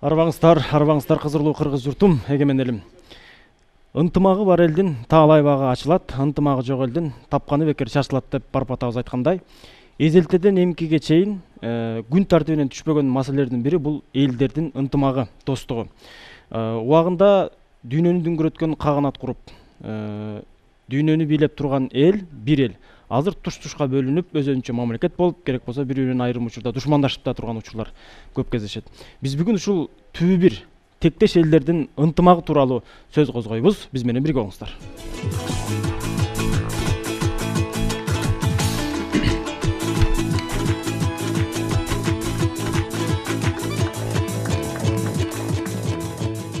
Арбаңыздар кызырлуу кыргыз журтум, эгемен элим. Ынтымагы бар элдин таалай багы ачылат, ынтымагы жок элдин тапканы бекер чачылат деп Барпатабыз айткандай, эзелтеден эмкиге чейин күн тартибинен түшпөгөн маселелердин бири бул элдердин ынтымагы, достугу. Убагында дүйнөнү дүңгүрөткөн каганат куруп, дүйнөнү бийлеп турган эл бир эл. Азыр туш-тушка бөлүнүп, өзүнчө мамлекет болуп, керек болсо бири-бирин айрым учурда душмандашып да турган учурлар көп кездешет. Биз бүгүн ушул түбү бир тектеш элдердин ынтымагы тууралуу сөз козгойбуз. Биз менен бирге болуңуздар.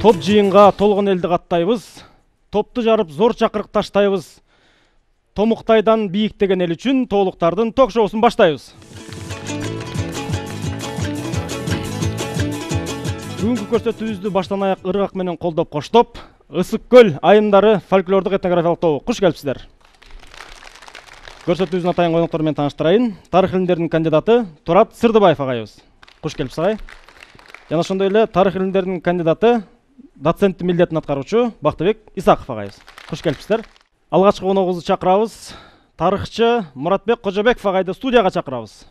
Топ жыйынга толгон элди каттайбыз. Топту жарып зор чакырык таштайбыз. Томуктайдан бийиктеген эл үчүн тоолуктардын ток-шоусун баштайбыз. Бүгүнкү көрсөтүүбүздү баштан аяк ыргак менен колдоп коштоп, Ысык көл айымдары фольклордук этнографиялык тобу. Куш келипсиздер. Көрсөтүүбүздүн атайын коноктору менен тааныштырайын. Тарых илимдеринин кандидаты Турат Сырдыбаев агайыбыз. Куш келипсиз агай. Жана ошондой эле тарых илимдеринин кандидаты, доценттин милдетин аткаруучу Бактыбек Исаков агайыбыз. Куш келипсиздер. Алгачкы коногубузду чакырабыз. Тарыхчы Муратбек Кожобеков агайды студияга чакырабыз.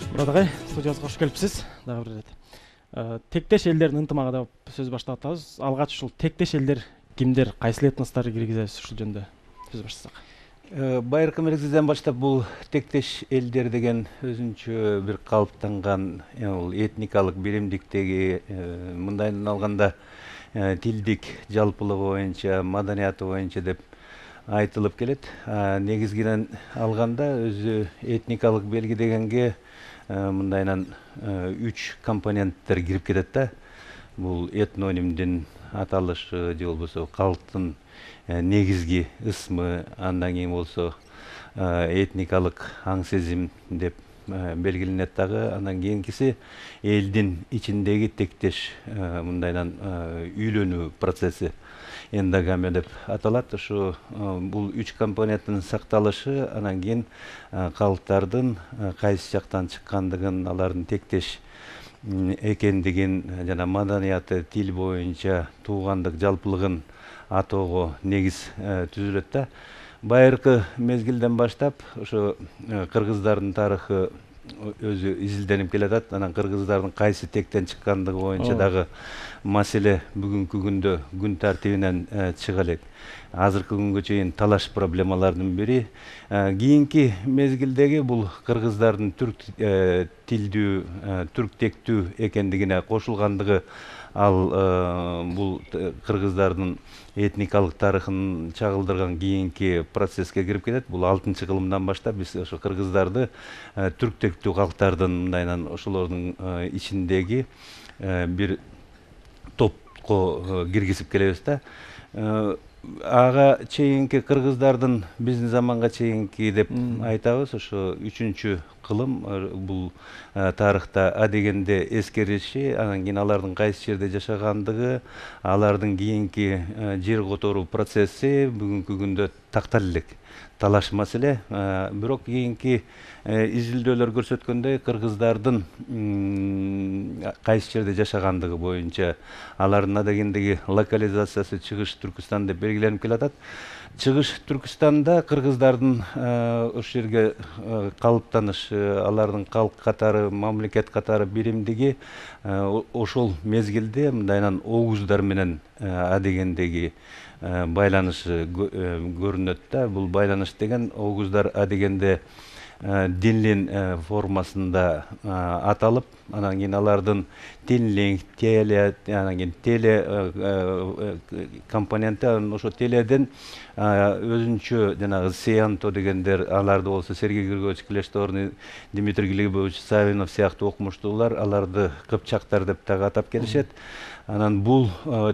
Мурат агай, студиябызга кош келипсиз. Дагы бир ирет. Тектеш элдердин ынтымагы деп сөз баштап атабыз. Алгач ушул тектеш элдер кимдер, кайсы этносторду киргизебиз, ушул жөнүндө сөз баштасак. Байыркы мезгилден баштап бул тектеш элдер деген өзүнчө бир калыптанган этникалык биримдиктеги, мындайынан алганда тилдик жалпылыгы боюнча, маданияты боюнча деп айтылып келет. Негизгиден алганда өзү этникалык белги дегенге мындайынан 3 компоненттер кирип кетет да. Бул этнонимдин аталышы же болбосо калктын негизги ысмы, андан кийин болсо этникалык аң сезим деп белгиленет дагы. Андан кийинкиси элдин ичиндеги тектеш мындайынан үйлөнүү процесси, эндогамия деп аталат. Ушу бул 3 компоненттин сакталышы, анан кийин калктардын кайсы жактан чыккандыгын, алардын тектеш экендигин жана маданияты, тил боюнча туугандык жалпылыгын атоого негиз түзүлөт да. Байыркы мезгилден баштап ошо кыргыздардын тарыхы өзү изилденип келатат. Анан кыргыздардын кайсы тектен чыккандыгы боюнча дагы маселе бүгүнкү күндө күн тартибинен чыга элек. Азыркы күнгө чейин талаш проблемалардын бири. Кийинки мезгилдеги бул кыргыздардын түрк тилдүү, түрк тектүү экендигине кошулгандыгы, ал бул кыргыздардын этникалык тарыхын чагылдырган кийинки процесске кирип кетет. Бул 6-кылымдан баштап биз ошо кыргыздарды түрк тектүү калктардын мындайынан ошолордун ичиндеги бир топко киргизип келебиз да. Ага чейинки кыргыздардын биздин заманга чейинки деп айтабыз. Ошо 3-кылым бул тарыхта адегенде эскериши, анан кийин алардын кайсы жерде жашагандыгы, алардын кийинки жер которуу процесси бүгүнкү күндө тактала элек талаш маселе. Бирок кийинки изилдөөлөр көрсөткөндөй, кыргыздардын кайсы жерде жашагандыгы боюнча алардын адегендеги локализациясы Чыгыш Түркүстан деп белгиленип келатат. Чыгыш Түркүстанда кыргыздардын ошол жерге калыптанышы, алардын калк катары, мамлекет катары биримдиги ошол мезгилде мындайынан огуздар менен адегендеги байланышы көрүнөт да. Бул байланыш деген огуздар адегенде динлин формасында аталып, анан кийин алардын тинлинг, теле, анан кийин теле компоненти, ошо теледен өзүнчө жанагы Сеянто дегендер, аларды болсо Сергей Григорьевич Клештор, Дмитрий Глебович Савинов сыяктуу окумуштуулар аларды кыпчактар деп дагы атап келишет. Анан бул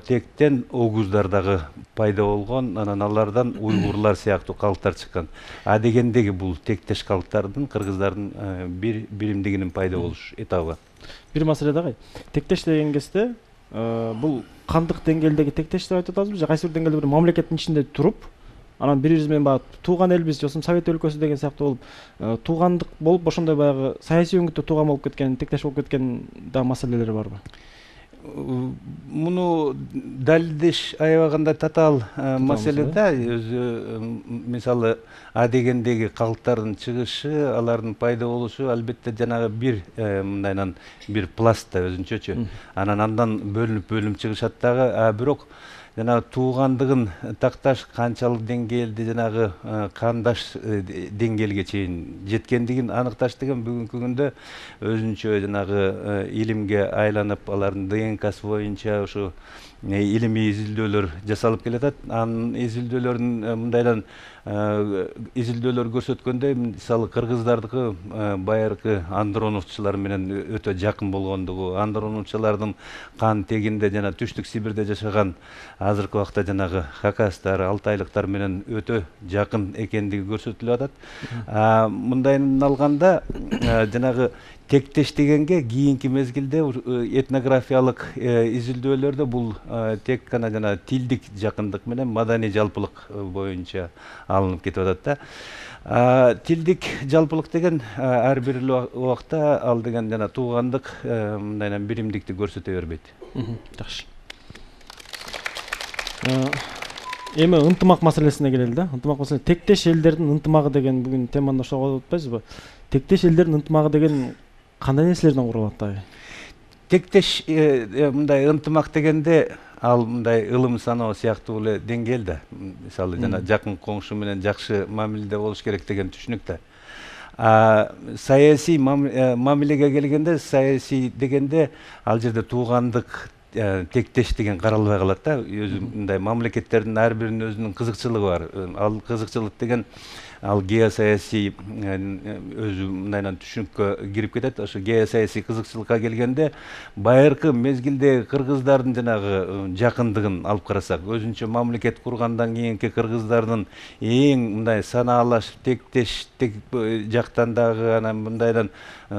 тектен огуздар дагы пайда болгон, анан алардан уйгурлар сыяктуу калктар чыккан. А дегендеги бул тектеш калктардын, кыргыздардын бир биримдигинин пайда болуш этабы. Бир маселе дагы. Тектеш деген кезде бул кандык деңгээлдеги тектеш деп айтып атабызбы же кайсы бир деңгээлде бир мамлекеттин ичинде туруп, анан бири биз менен баягы тууган элбиз, жосум Совет өлкөсү деген сыяктуу болуп, туугандык болуп, ошондой баягы саясий өңүттө тууган болуп кеткен, тектеш болуп кеткен да маселелери барбы? Муну далилдеш аябаганда татаал маселе да. Өзү мисалы А дегендеги калктардын чыгышы, алардын пайда болушу албетте жанагы бир мындайынан бир пласт да өзүнчөчү. Андан бөлүнүп чыгышат дагы. Бирок жанагы туугандыгын такташ канчалык деңгээлде жанагы кандаш деңгээлге чейин жеткендигин аныкташ деген бүгүнкү күндө өзүнчө жанагы илимге айланып, алардын ДНКсы боюнча ушу илимий изилдөөлөр жасалып келатат. Анын изилдөөлөрүн мындайдан изилдөөлөр көрсөткөндөй, мисалы кыргыздардыкы байыркы андроновчулар менен өтө жакын болгондугу, андроновчулардын кан тегинде жана Түштүк Сибирде жашаган азыркы убакта жанагы хакастар, алтайлыктар менен өтө жакын экендиги көрсөтүлүп атат. Мындайын алганда жанагы тектеш дегенге кийинки мезгилде этнографиялык изилдөөлөрдө бул тек гана жана тилдик жакындык менен маданий жалпылык боюнча алынып кетип атат да. Тилдик жалпылык деген ар бир убакта ал деген жана туугандык мындайынан биримдикти көрсөтө бербейт. Жакшы. Эми ынтымак маселесине келели да. Ынтымак маселе тектеш элдердин ынтымагы деген бүгүн теманы ошого атпайсызбы? Тектеш элдердин ынтымагы деген кандай нерселерден курулат дагы? Тектеш мындай ынтымак дегенде ал мындай ылым саноо сыяктуу эле деңгээл да. Мисалы жана жакын коңшу менен жакшы мамиледе болуш керек деген түшүнүк да. Саясий мамилеге келгенде, саясий дегенде ал жерде туугандык, тектеш деген каралбай калат да. Өзү мындай мамлекеттердин ар биринин өзүнүн кызыкчылыгы бар. Ал кызыкчылык деген ал геосаясий өзү мындайынан түшүнүккө кирип кетет. Ошо геосаясий кызыкчылыкка келгенде байыркы мезгилде кыргыздардын жанагы жакындыгын алып карасак, өзүнчө мамлекет кургандан кийинки кыргыздардын эң мындай санаалаш тектеш жактан дагы анан мындайдан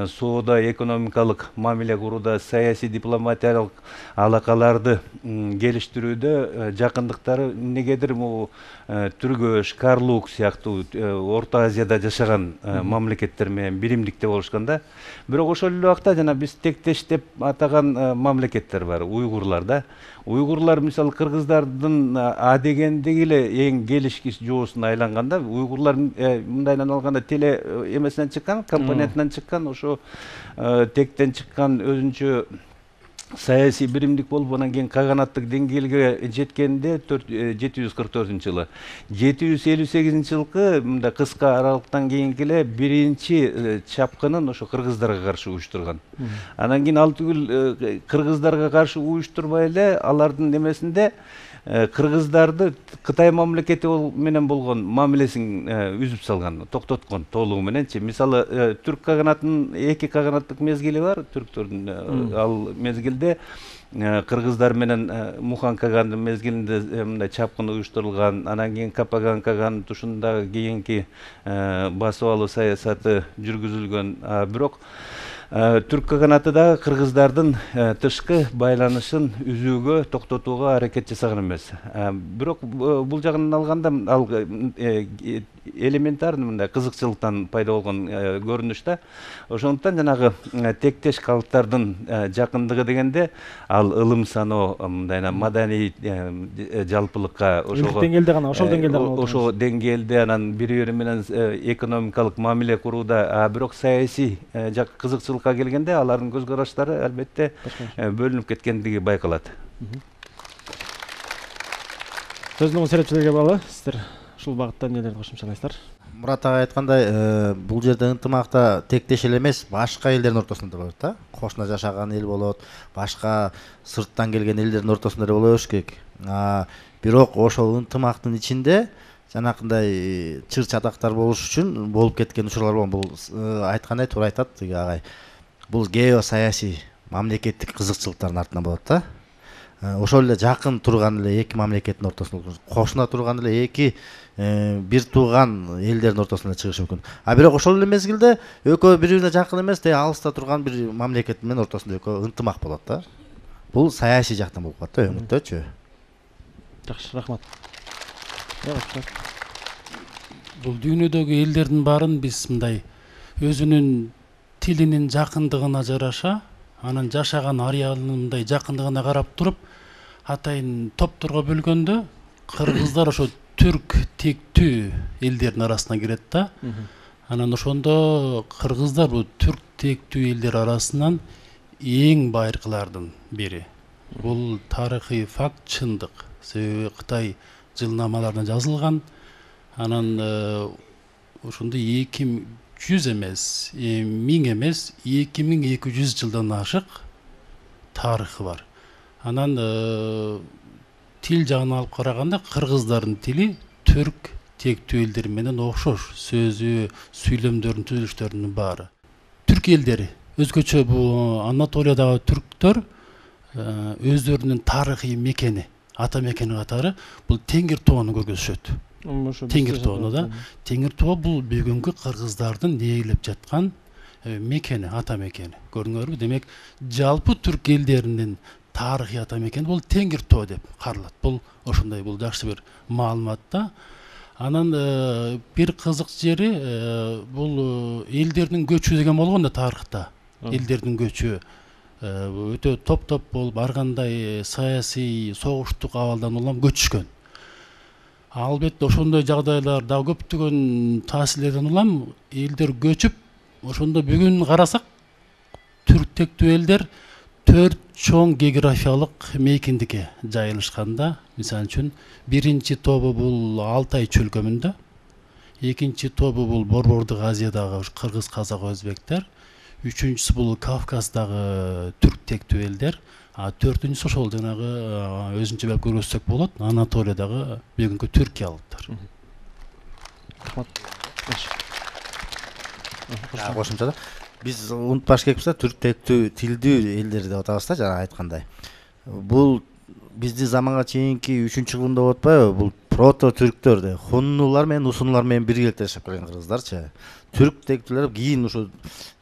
соода экономикалык мамиле курууда, саясий дипломатиялык алакаларды келиштирүүдө жакындыктары эмнегедир могу Түргөш, Карлук сыяктуу Орто Азияда жашаган мамлекеттер менен биримдикте болушкан да. Бирок ошол эле убакта жана биз тектеш деп атаган мамлекеттер бар, уйгурлар да. Уйгурлар мисалы кыргыздардын А дегендеги эле эң келишкис жоосуна айланганда, уйгурлар мындайдан алганда теле эмесинен чыккан, компонентинен чыккан, ошо тектен чыккан өзүнчө саясий биримдик болуп, анан кийин каганаттык деңгээлге жеткенде 744-жылы. 758-жылкы мындай кыска аралыктан кийинки эле биринчи чапкынын ошо кыргыздарга каршы уюштурган. Анан кийин ал түгүл кыргыздарга каршы уюштурбай эле алардын эмесинде кыргыздарды Кытай мамлекети менен болгон мамилесин үзүп салган, токтоткон толугу мененчи. Мисалы түрк каганатынын 2 каганаттык мезгили бар, түрктөрдүн. Ал мезгилде кыргыздар менен Мухан кагандын мезгилинде мындай чапкын уюштурулган. Анан кийин Капаган каганын тушунда кийинки басып алуу саясаты жүргүзүлгөн. Бирок түрк каганаты да кыргыздардын тышкы байланышын үзүүгө, токтотууга аракет жасаган эмес. Бирок бул жагынан алганда ал элементарный мындай кызыкчылыктан пайда болгон көрүнүш да. Ошондуктан жанагы тектеш калктардын жакындыгы дегенде ал ылым саноо, мындайна маданий жалпылыкка, ошого деңгээлде гана, ошол деңгээлде гана, ошо деңгээлде анан бири-бири менен экономикалык мамиле курууда, бирок саясий кызыкчылыкка келгенде алардын көз караштары албетте бөлүнүп кеткендиги байкалат. Сөзүн серепчилерге багалы, сиздер ушул багытта эмнелерди кошумчалайсыздар? Мурат ага айткандай, бул жерде ынтымакта тектеш эле эмес, башка элдердин ортосунда болот да. Кошуна жашаган эл болот, башка сырттан келген элдердин ортосунда эле боло бериш керек. Бирок ошол ынтымактын ичинде жанакындай чыр-чатактар болуш үчүн болуп кеткен учурлар болгон. Бул айткандай туура айтат агай. Бул геосаясий мамлекеттик кызыкчылыктардын артынан болот да. ошол эле жакын турган эле эки мамлекеттин ортосунда кошуна турган эле эки бир тууган элдердин ортосунда чыгышы мүмкүн. А бирок ошол эле мезгилде экөө бири бирине жакын эмес, алыста турган бир мамлекет менен ортосунда экөө ынтымак болот да. Бул саясий жактан болуп калат да өңүттөчү. Жакшы, рахмат. Бул дүйнөдөгү элдердин баарын биз мындай өзүнүн тилинин жакындыгына жараша, анын жашаган ареалынын мындай жакындыгына карап туруп, атайын топторго бөлгөндө кыргыздар ошо түрк тектүү элдердин арасына кирет да. Анан ошондо кыргыздар бул түрк тектүү элдер арасынан эң байыркылардын бири. Бул тарыхый факт, чындык. Себеби Кытай жылнамаларында жазылган. Анан ошондо 2100 эмес, 1000 эмес, 2200 жылдан ашык тарыхы бар. Анан тил жагынан алып караганда кыргыздардын тили түрк тектүү элдер менен окшош. Сөзү, сүйлөмдөрүнүн, түзүлүштөрүнүн баары. Түрк элдери өзгөчө бул Анатолиядагы түрктөр өздөрүнүн тарыхый мекени, ата мекени катары бул Теңир тоону көргөзүшөт. Теңир тоону да. Теңир тоо бул бүгүнкү кыргыздардын ээлеп жаткан мекени, ата мекени. Көрдүңөрбү? Демек, жалпы түрк элдеринин тарыхый ата мекени бул Теңир тоо деп каралат. Бул ошондой, бул жакшы бир маалымат да. Анан бир кызык жери бул элдердин көчү деген болгон да тарыхта. Элдердин көчү өтө топ-топ болуп, ар кандай саясий, согуштук абалдан улам көчүшкөн. Албетте ошондой жагдайлар да көптөгөн таасирлерден улам элдер көчүп, ошондо бүгүн карасак түрк тектүү элдер 4 чоң географиялык мейкиндикке жайылышканда. Мисалы үчүн, биринчи тобу бул Алтай чөлкөмүндө, экинчи тобу бул Борбордук Азиядагы кыргыз, казак, өзбектер, үчүнчүсү бул Кавказдагы түрк тектүү элдер, а төртүнчүсү ошол жанагы өзүнчө белип көрсөтсөк болот, Анатолиядагы бүгүнкү түркиялыктар. Кошумча да биз унутпаш керекпиз да, түрк тектүү тилдүү элдер деп атабыз да, жана айткандай. Бул биздин заманга чейинки 3-кылымда болуп атпайбы? Бул прото түрктөр да, хуннулар менен усунлар менен биргеликте жашап келген кыргыздарчы. Түрк тектүүлөр кийин ушу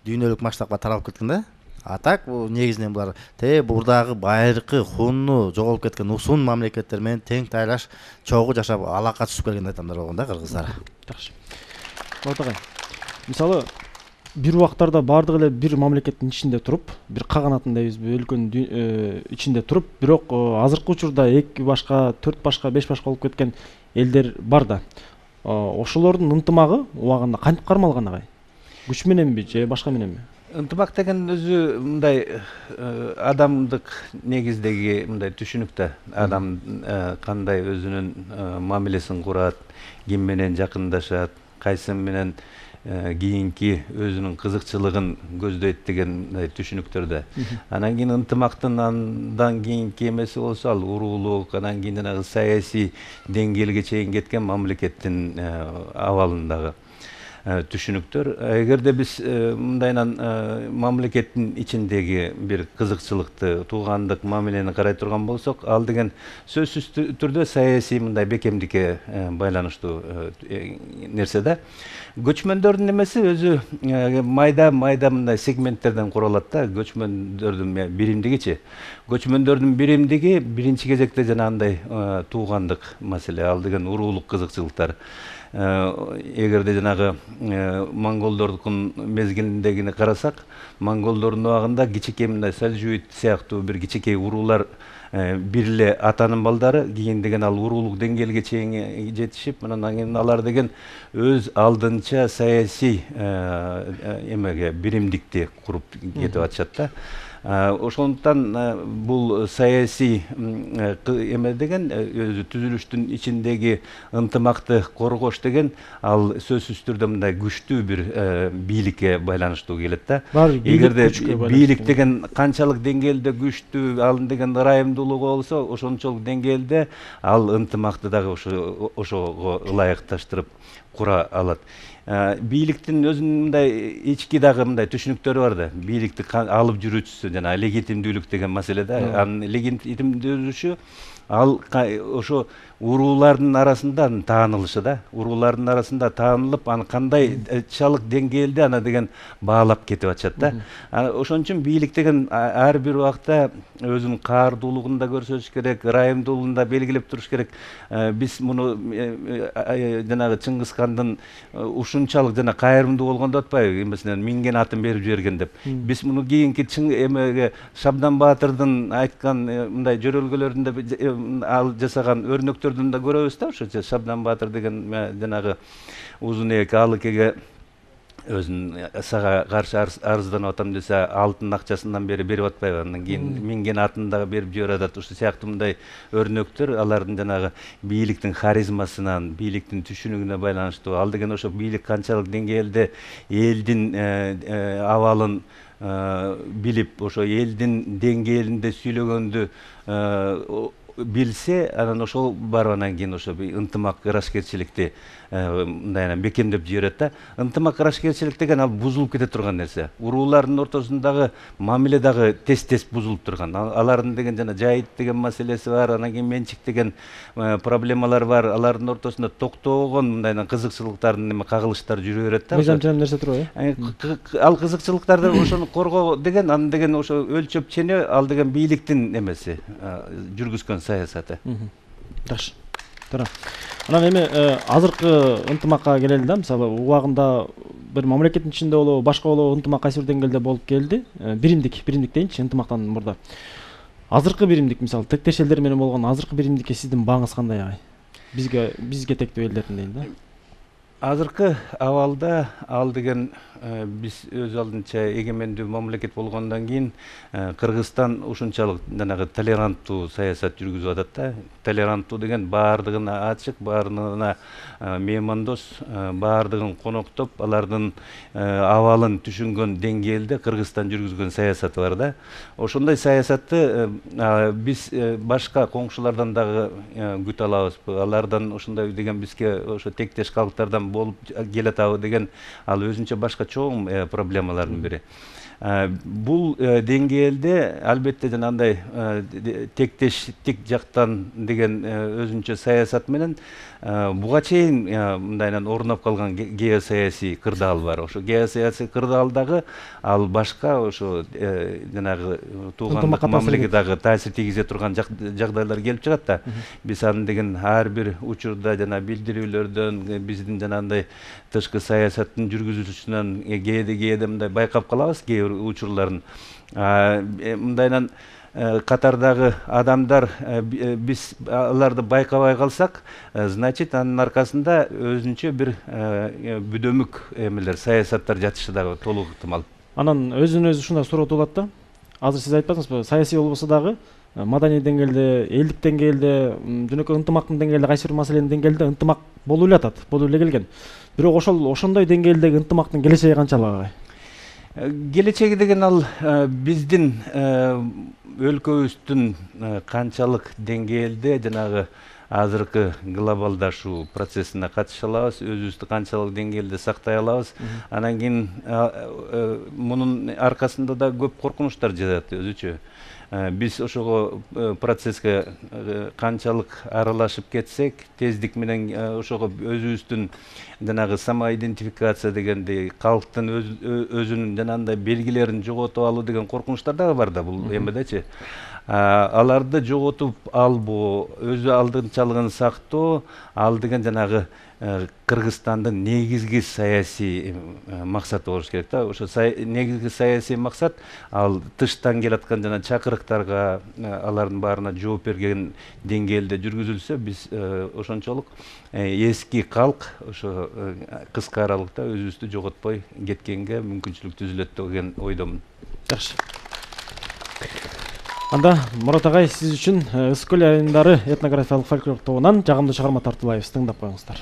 дүйнөлүк масштабка таралып кеткен да. А так негизинен булар бурдагы байыркы хунну жоголуп кеткен усун мамлекеттер менен тең тайлаш чогуу жашап алака түзүп келген адамдар болгон да кыргыздар. Жакшы. Отагай. Мисалы, бир убактарда бардык эле бир мамлекеттин ичинде туруп, бир каганатын дейбизби, өлкөнүн ичинде туруп, бирок азыркы учурда 2 башка, 4 башка, 5 башка болуп кеткен элдер бар да. Ошолордун ынтымагы убагында кантип кармалган агай? Күч мененби же башка мененби? Ынтымак деген өзү мындай адамдык негиздеги мындай түшүнүк да. Адам кандай өзүнүн мамилесин курат, ким менен жакындашат, кайсы менен кийинки өзүнүн кызыкчылыгын көздөйт деген түшүнүктөр да. Анан кийин ынтымактын андан кийинки эмеси болсо ал уруулук, анан кийин жанагы саясий деңгээлге чейин кеткен мамлекеттин абалындагы түшүнүктөр. Эгерде биз мындайынан мамлекеттин ичиндеги бир кызыкчылыкты, туугандык мамилени карай турган болсок, ал деген сөзсүз түрдө саясий мындай бекемдикке байланыштуу нерсе да. Көчмөндөрдүн эмеси өзү майда мындай сегменттерден куралат да. Көчмөндөрдүн биримдигичи. Көчмөндөрдүн биримдиги биринчи кезекте жанагындай туугандык маселе, ал деген уруулук кызыкчылыктар. Эгерде жанагы монголдордун мезгилиндегини карасак, монголдордун убагында кичикей мындай Сальжуит сыяктуу бир кичикей уруулар бир эле атанын балдары кийин деген ал уруулук деңгээлге чейин жетишип, анан кийин алар деген өз алдынча саясий эмеге биримдикти куруп кетип атышат да. Ошондуктан бул саясий эме деген өзү түзүлүштүн ичиндеги ынтымакты коргош деген ал сөзсүз түрдө мындай күчтүү бир бийликке байланыштуу келет да. Эгерде бийлик деген канчалык деңгээлде күчтүү, ал деген ырайымдуулугу болсо, ошончолук деңгээлде ал ынтымакты дагы ошого ылайыкташтырып кура алат. Бийликтин өзүнүн мындай ички дагы мындай түшүнүктөрү бар да. Бийликти алып жүрүүчүсү жана легитимдүүлүк деген маселе да. Анын легитимдүүлүшү ал ошо уруулардын арасында таанылышы да. Уруулардын арасында таанылып, аны кандайчалык деңгээлде ана деген баалап кетип атышат да. Ошон үчүн бийлик деген ар бир убакта өзүнүн каардуулугун да көрсөтүш керек, ырайымдуулугун да белгилеп туруш керек. Биз муну жанагы Чыңгыз хандын ушунчалык жана кайрымдуу болгондо атпайбы, эмесинен минген атын берип жиберген деп. Биз муну кийинки эмеге Шабдан Баатырдын айткан мындай жөрөлгөлөрүндө ал жасаган өрнөктөрдөн да көрөбүз да. Ошо Шабдан Баатыр деген жанагы узун эек Алыкеге өзүнүн сага каршы арызданып атам десе, алтын акчасынан бери берип атпайбы, андан кийин минген атын дагы берип жиберип атат. Ушул сыяктуу мындай өрнөктөр алардын жанагы бийликтин харизмасынан, бийликтин түшүнүгүнө байланыштуу. Ал деген ошо бийлик канчалык деңгээлде элдин абалын билип, ошо элдин деңгээлинде сүйлөгөндү билсе, анан ошол барып анан кийин ошо ынтымак, ырашкерчиликти мындай бекемдеп жиберет да. Ынтымак, ырашкерчилик деген ал бузулуп кете турган нерсе. Уруулардын ортосундагы мамиле дагы тез бузулуп турган. Алардын деген жана жайыт деген маселеси бар, анан кийин менчик деген проблемалар бар. Алардын ортосунда токтогон мындай кызыкчылыктардын кагылыштар жүрө берет да. Мыйзам нерсе турбайбы? Ал кызыкчылыктарды ошону коргоо деген, анын деген ошо өлчөп ченөө, ал деген бийликтин эмеси, жүргүзгөн саясаты. Жакшы. Туура. Анан эми азыркы ынтымакка келели да. Мисалы, убагында бир мамлекеттин ичинде болобу, башка болобу ынтымак кайсы бир деңгээлде болуп келди. Биримдик дейинчи, ынтымактан мурда. Азыркы биримдик, мисалы, тектеш элдер менен болгон азыркы биримдикке сиздин бааңыз кандай агай? Бизге тектүү элдердин дейин да. Азыркы абалда ал деген биз өз алдынча эгемендүү мамлекет болгондон кийин Кыргызстан ушунчалык жанагы толеранттуу саясат жүргүзүп атат да. Толеранттуу деген баардыгына ачык, баардыгына меймандос, баардыгын коноктоп, алардын абалын түшүнгөн деңгээлде Кыргызстан жүргүзгөн саясаты бар да. Ошондой саясатты биз башка коңшулардан дагы күтө алабызбы? Алардан ошондой деген бизге ошо тектеш калктардан болуп келатабы деген ал өзүнчө башка чоң проблемалардын бири. Бул деңгээлде албетте жанагындай тектештик жактан деген өзүнчө саясат менен буга чейин мындайынан орноп калган геосаясий кырдаал бар. Ошо геосаясий кырдаалдагы ал башка ошо жанагы туугандык мамилеге дагы таасир тийгизе турган жагдайлар келип чыгат да. Биз аны деген ар бир учурда жана билдирүүлөрдөн, биздин жанагындай тышкы саясаттын жүргүзүүчүсүнөн кээде мындай байкап калабыз кээ бир учурларын. Мындайынан катардагы адамдар биз аларды байкабай калсак, значит анын аркасында өзүнчө бир бүдөмүк эмелер, саясаттар жатышы дагы толук ыктымал. Анан өзүнө өзү ушундай суроо туулат да. Азыр сиз айтпадыңызбы, саясий болбосо дагы маданий деңгээлде, элдик деңгээлде, жөнөкөй ынтымактын деңгээлде, кайсы бир маселенин деңгээлде ынтымак болуп эле атат, болуп эле келген. Бирок ошондой деңгээлдеги ынтымактын келечеги канчалык агай? Келечеги деген ал биздин өлкөбүздүн канчалык деңгээлде жанагы азыркы глобалдашуу процессине катыша алабыз, өзүбүздү канчалык деңгээлде сактай алабыз. Анан кийин мунун аркасында да көп коркунучтар жатат өзүчө. Биз ошого процесске канчалык аралашып кетсек, тездик менен ошого өзүбүздүн жанагы самоидентификация дегенди, калктын өзүнүн жанагындай белгилерин жоготуп алуу деген коркунучтар дагы бар да бул эмедечи. Аларды жоготуп албоо, өзү алдынчалыгын сактоо, ал деген жанагы Кыргызстандын негизги саясий максаты болуш керек да. Ошо негизги саясий максат ал тыштан келаткан жана чакырыктарга, алардын баарына жооп берген деңгээлде жүргүзүлсө, биз ошончолук эски калк ошо кыска аралыкта өзүбүздү жоготпой кеткенге мүмкүнчүлүк түзүлөт деген ойдомун. Жакшы. Анда Мурат агай, сиз үчүн Ысык көл айылдары этнографиялык фольклор тобунан жагымдуу чыгарма тартуулайбыз, тыңдап коюңуздар.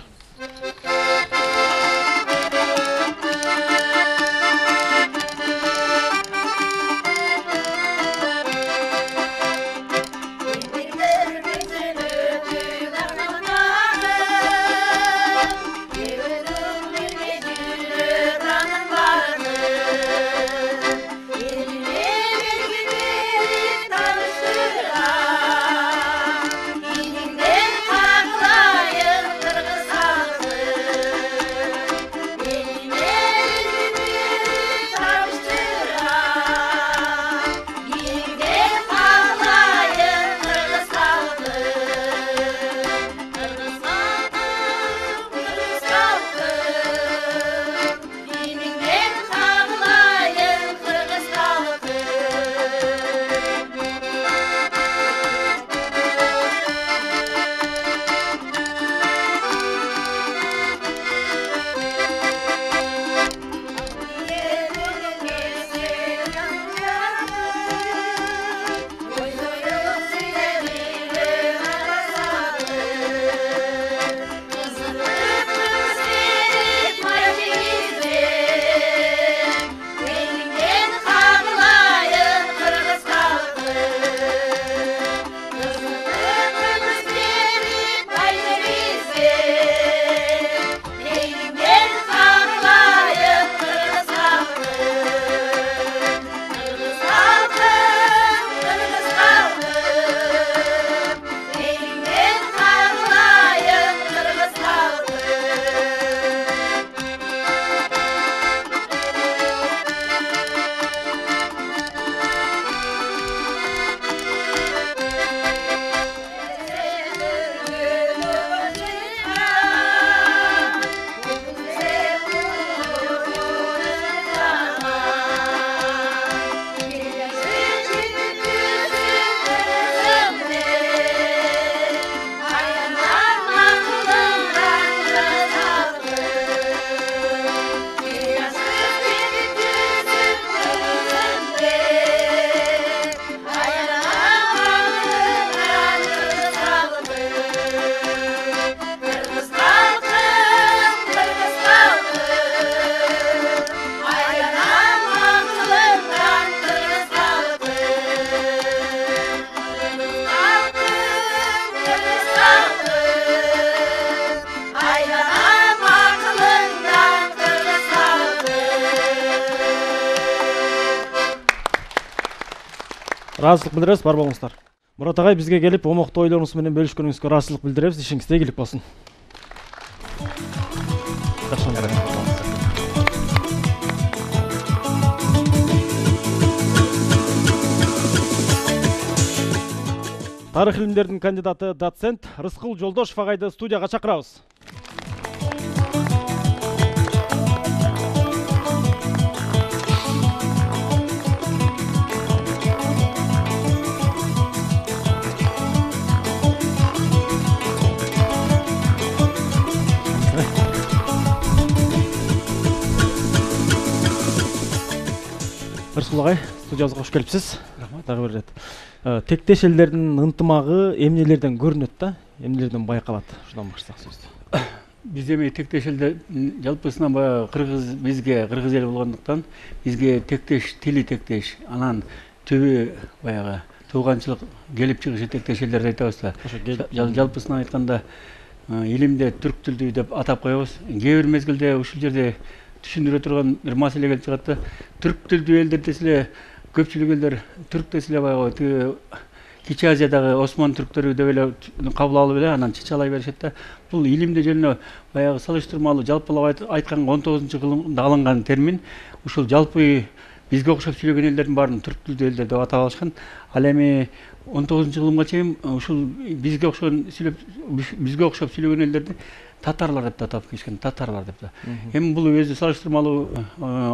ыраазычылык билдиребиз, бар болуңуздар. Мурат агай, бизге келип омоктуу ойлоруңуз менен бөлүшкөнүңүзгө ыраазычылык билдиребиз. Ишиңизде ийгилик болсун. Тарых илимдеринин кандидаты доцент Рыскул Жолдошов агайды студияга чакырабыз. Рыскул агай, студиябызга кош келипсиз. Рахмат. Дагы бир ирет. Тектеш элдердин ынтымагы эмнелерден көрүнөт да, эмнелерден байкалат? Ушудан баштасак сөздү. Биз эми тектеш элде жалпысынан баягы бизге кыргыз эли болгондуктан бизге тектеш тили тектеш, анан түбү баягы тууганчылык келип чыгышы тектеш элдерди айтабыз да. Жалпысынан айтканда илимде түрк тилдүү деп атап коебуз. Кээ бир мезгилде ушул жерде түшүндүрө турган бир маселе келип чыгат да. Түрк тилдүү элдер десе эле көпчүлүк элдер түрк десе эле баягы Кичи Азиядагы Осман түрктөрү деп эле кабыл алып эле анан чычалай беришет да. Бул илимде жөнүнө баягы салыштырмалуу жалпылап айтканга 19-кылымда алынган термин. Ушул жалпы бизге окшоп сүйлөгөн элдердин баарын түрк тилдүү элдер деп атап алышкан. Ал эми 19-кылымга чейин ушул бизге окшоп сүйлөгөн элдерди татарлар деп атап келишкен, татарлар деп да. Эми бул өзү салыштырмалуу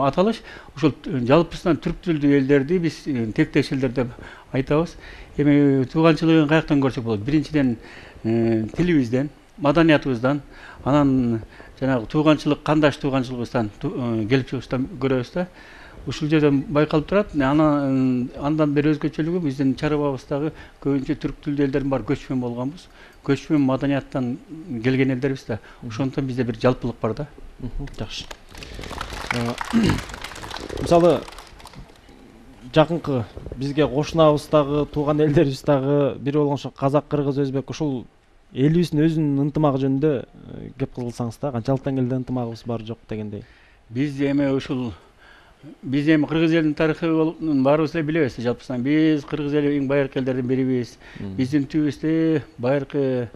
аталыш. Ушул жалпысынан түрк тилдүү элдерди биз тектеш элдер деп айтабыз. Эми тууганчылыгын каяктан көрсөк болот? Биринчиден тилибизден, маданиятыбыздан, анан жанагы тууганчылык, кандаш тууганчылыгыбыздан келип чыгыштан көрөбүз да. Ушул жерден байкалып турат. Андан бери өзгөчөлүгү биздин чарыбабыздагы көбүнчө түрк тилдүү элдердин баары көчмөн болгонбуз. Көчмөн маданияттан келген элдербиз да. Ошондон бизде бир жалпылык бар да. Жакшы. Мисалы жакынкы бизге кошунабыздагы тууган элдерибиз дагы бири болгон казак, кыргыз, өзбек ушул элибиздин өзүнүн ынтымагы жөнүндө кеп кылсаңыз да, канчалыктан келди ынтымагыбыз бар жок дегендей. Биз эми кыргыз элинин тарыхын баарыбыз эле билебиз жалпысынан. Биз кыргыз эли эң байыркы элдердин бирибиз. Биздин түбүбүздө байыркы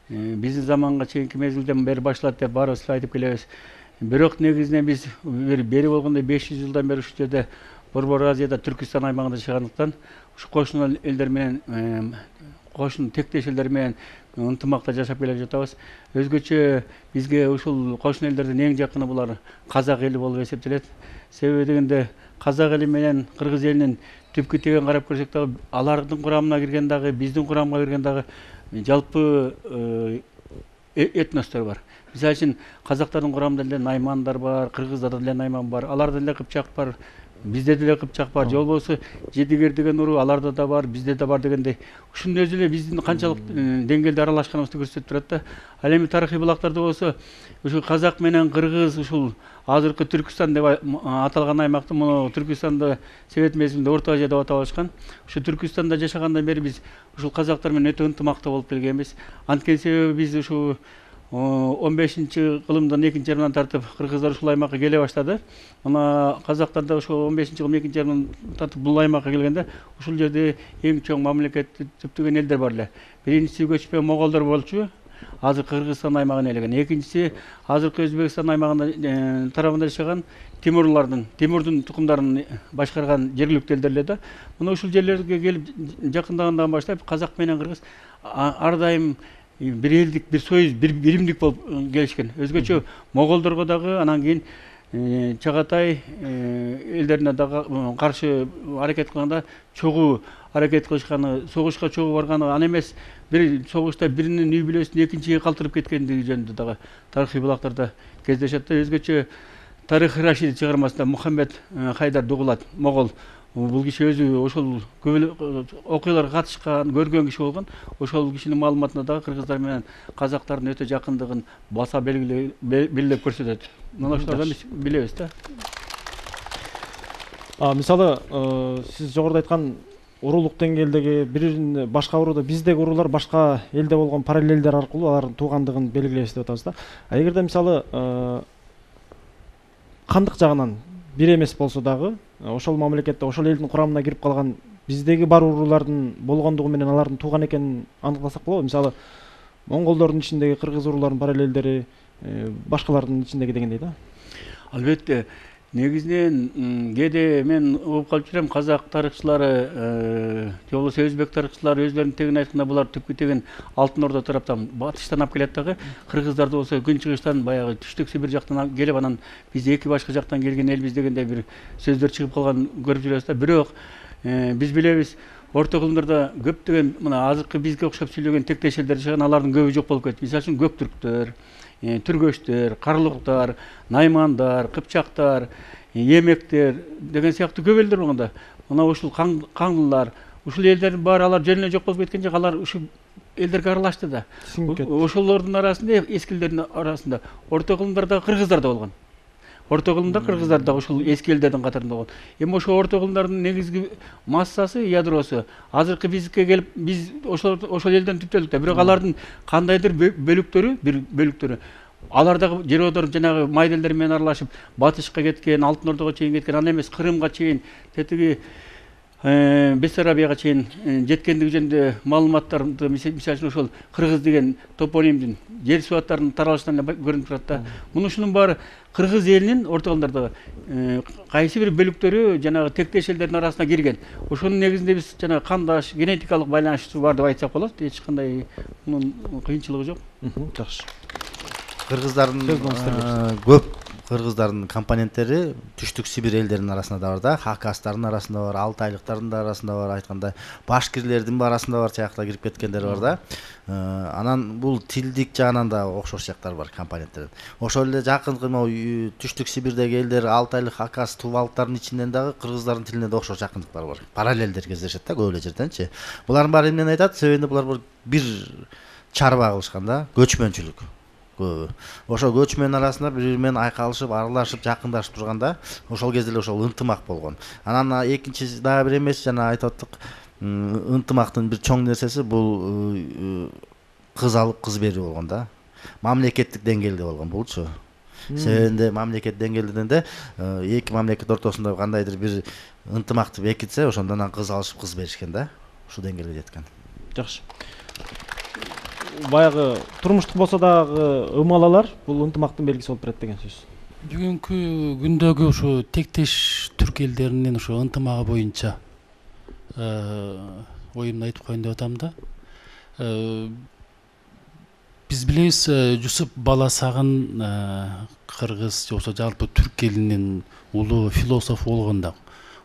биздин заманга чейинки мезгилден бери башталат деп баарыбыз эле айтып келебиз. Бирок негизинен биз бери болгондо 500 жылдан бери ушул жерде Борбор Азияда Түркистан аймагында жашагандыктан ушу кошуна элдер менен кошун тектеш элдер менен ынтымакта жашап келе жатабыз. Өзгөчө бизге ушул кошун элдердин эң жакыны булар казак эли болуп эсептелет. Себеби дегенде казак эли менен кыргыз элинин түпкү теген карап көрсөк дагы алардын курамына кирген дагы биздин курамга кирген дагы жалпы этностор бар. Мисалы үчүн казактардын курамында деле наймандар бар, кыргыздарда деле найман бар, аларда деле кыпчак бар, бизде деле кыпчак бар. Же болбосо Жедигер деген уруу аларда да бар, бизде да бар дегендей. Ушунун өзү эле биздин канчалык деңгээлде аралашканыбызды көрсөтүп турат да. Ал эми тарыхый булактарда болсо ушул казак менен кыргыз ушул азыркы Түркистан деп аталган аймакты муну Түркистанда Совет мезгилинде Орто Азия деп атап алышкан. Ушу Түркистанда жашагандан бери биз ушул казактар менен өтө ынтымактуу болуп келгенбиз. Анткени себеби биз ушу 15-кылымдын 2-жарымынан тартып кыргыздар ушул аймакка келе баштады. Мына казактар да ушул 15-кылым 2-жарымдан тартып бул аймакка келгенде ушул жерде эң чоң мамлекетти түптөгөн элдер бар эле. Биринчиси көчпөн моголдор болчу. Азыркы Кыргызстан аймагын ээлеген. Экинчиси азыркы Өзбекстан аймагында тарабында жашаган Тимурдун тукумдарын башкарган жергиликтүү элдер эле да. Мына ушул жерлерге келип жакындагандан баштап казак менен кыргыз ар дайым бир элдик, бир союз, бир биримдик болуп келишкен. Өзгөчө моголдорго дагы анан кийин Чагатай элдерине дагы каршы аракет кылганда чогуу аракет кылышканы, согушка чогуу барганы, аны эмес бир согушта биринин үй бүлөсүн экинчиге калтырып кеткендиги жөнүндө дагы тарыхый булактарда кездешет. Өзгөчө Тарых Рашид чыгармасында Мухаммед Хайдар Дугулат могол бул киши өзү ошол көп окуяларга катышкан, көргөн киши болгон. Ошол кишинин маалыматында дагы кыргыздар менен казактардын өтө жакындыгын баса белгилеп көрсөтөт. Мына ошолордон биз билебиз да. Мисалы, сиз жогоруда айткан урулук деңгээлдеги бирин башка урууда биздеги уруулар башка элде болгон параллелдер аркылуу алардын туугандыгын белгилейбиз деп атабыз да. Эгерде мисалы кандык жагынан бир эмес болсо дагы ошол мамлекетте ошол элдин курамына кирип калган биздеги бар уруулардын болгондугу менен алардын тууган экенин аныктасак болобу? Мисалы монголдордун ичиндеги кыргыз урууларынын параллелдери башкалардын ичиндеги дегендей да. Албетте, негизинен кээде мен угуп калып жүрөм, казак тарыхчылары же болбосо өзбек тарыхчылары өзлөрүнүн тегин айтканда булар түпкү тегин Алтын Орда тараптан батыштан алып келет дагы, кыргыздарды болсо күнчыгыштан баягы түштүк Сибир жактан келип, анан биз эки башка жактан келген элбиз дегендей бир сөздөр чыгып калган көрүп жүрөбүз да. Бирок биз билебиз, орто кылымдарда көптөгөн мына азыркы бизге окшоп сүйлөгөн тектеш элдер жашаган, алардын көбү жок болуп кетти. Мисалы үчүн көктүрктөр, түргөчтөр, карлуктар, наймандар, кыпчактар, эмектер деген сыяктуу көп элдер болгондо, мына ушул каңлылар, ушул элдердин баары алар жөн эле жок болуп кеткен жок, алар ушул элдерге аралашты да. Ошолордун арасында, эскилердин арасында орто кылымдардагы кыргыздар да болгон. Орто кылымда кыргыздар да ушул эски элдердин катарында болгон. Эми ошол орто кылымдардын негизги массасы, ядросу азыркы бизге келип, биз ошол элден түптөлдүк да. Бирок алардын кандайдыр бөлүктөрү алардагы жер жанагы майделдер менен аралашып батышка кеткен, Алтын Ордого чейин кеткен, аны эмес Кырымга чейин, тетиги Бессарабияга чейин жеткендиги жөнүндө маалыматтарды, мисалы үчүн ошол кыргыз деген топонимдин жер суаттарынын таралышынан көрүнүп турат да. Мунушунун баары кыргыз элинин орто кылымдардагы кайсы бир бөлүктөрү жанагы тектеш элдердин арасына кирген. Ошонун негизинде биз жанагы кандаш, генетикалык байланышы бар деп айтсак болот. Эч кандай мунун кыйынчылыгы жок. Жакшы. Кыргыздардын көп кыргыздардын компоненттери түштүк Сибир элдеринин арасында да бар да, хакастардын арасында бар, алтайлыктардын да арасында бар, айткандай башкирлердин арасында бар сыяктуу кирип кеткендер бар да. Анан бул тилдик жагынан да окшош жактар бар компоненттердин. Ошол эле жакынкы түштүк Сибирдеги элдер, алтайлык, хакас, тувалыктардын ичинен дагы кыргыздардын тилине да окшош жакындыктар бар. Параллелдер кездешет да көп эле жерденчи. Булардын баары эмнени айтат? Себебинде булар бир чарба кылышкан да, көчмөнчүлүк. Ошол көчмөн арасында бири менен айкалышып, аралашып, жакындашып турганда, ошол кезде эле ошол ынтымак болгон. Анан экинчи дагы бир эмес, жана айтып аттык, ынтымактын бир чоң нерсеси бул кыз алып, кыз берүү болгон да. Мамлекеттик деңгээлде болгон булчу. Себебинде мамлекет деңгээлинде эки мамлекет ортосунда кандайдыр бир ынтымакты бекитсе, ошондон кыз алышып, кыз беришкен да. Ушул деңгээлге жеткен. Жакшы. Баягы турмуштук болсо дагы ымалалар бул ынтымактын белгиси болуп берет деген сөз. Бүгүнкү күндөгү ушу тектеш түрк элдеринин ушу ынтымагы боюнча оюмду айтып коеюн деп атам да. Биз билебиз, Жусуп Баласагын кыргыз же болбосо жалпы түрк элинин улуу философ болгон да.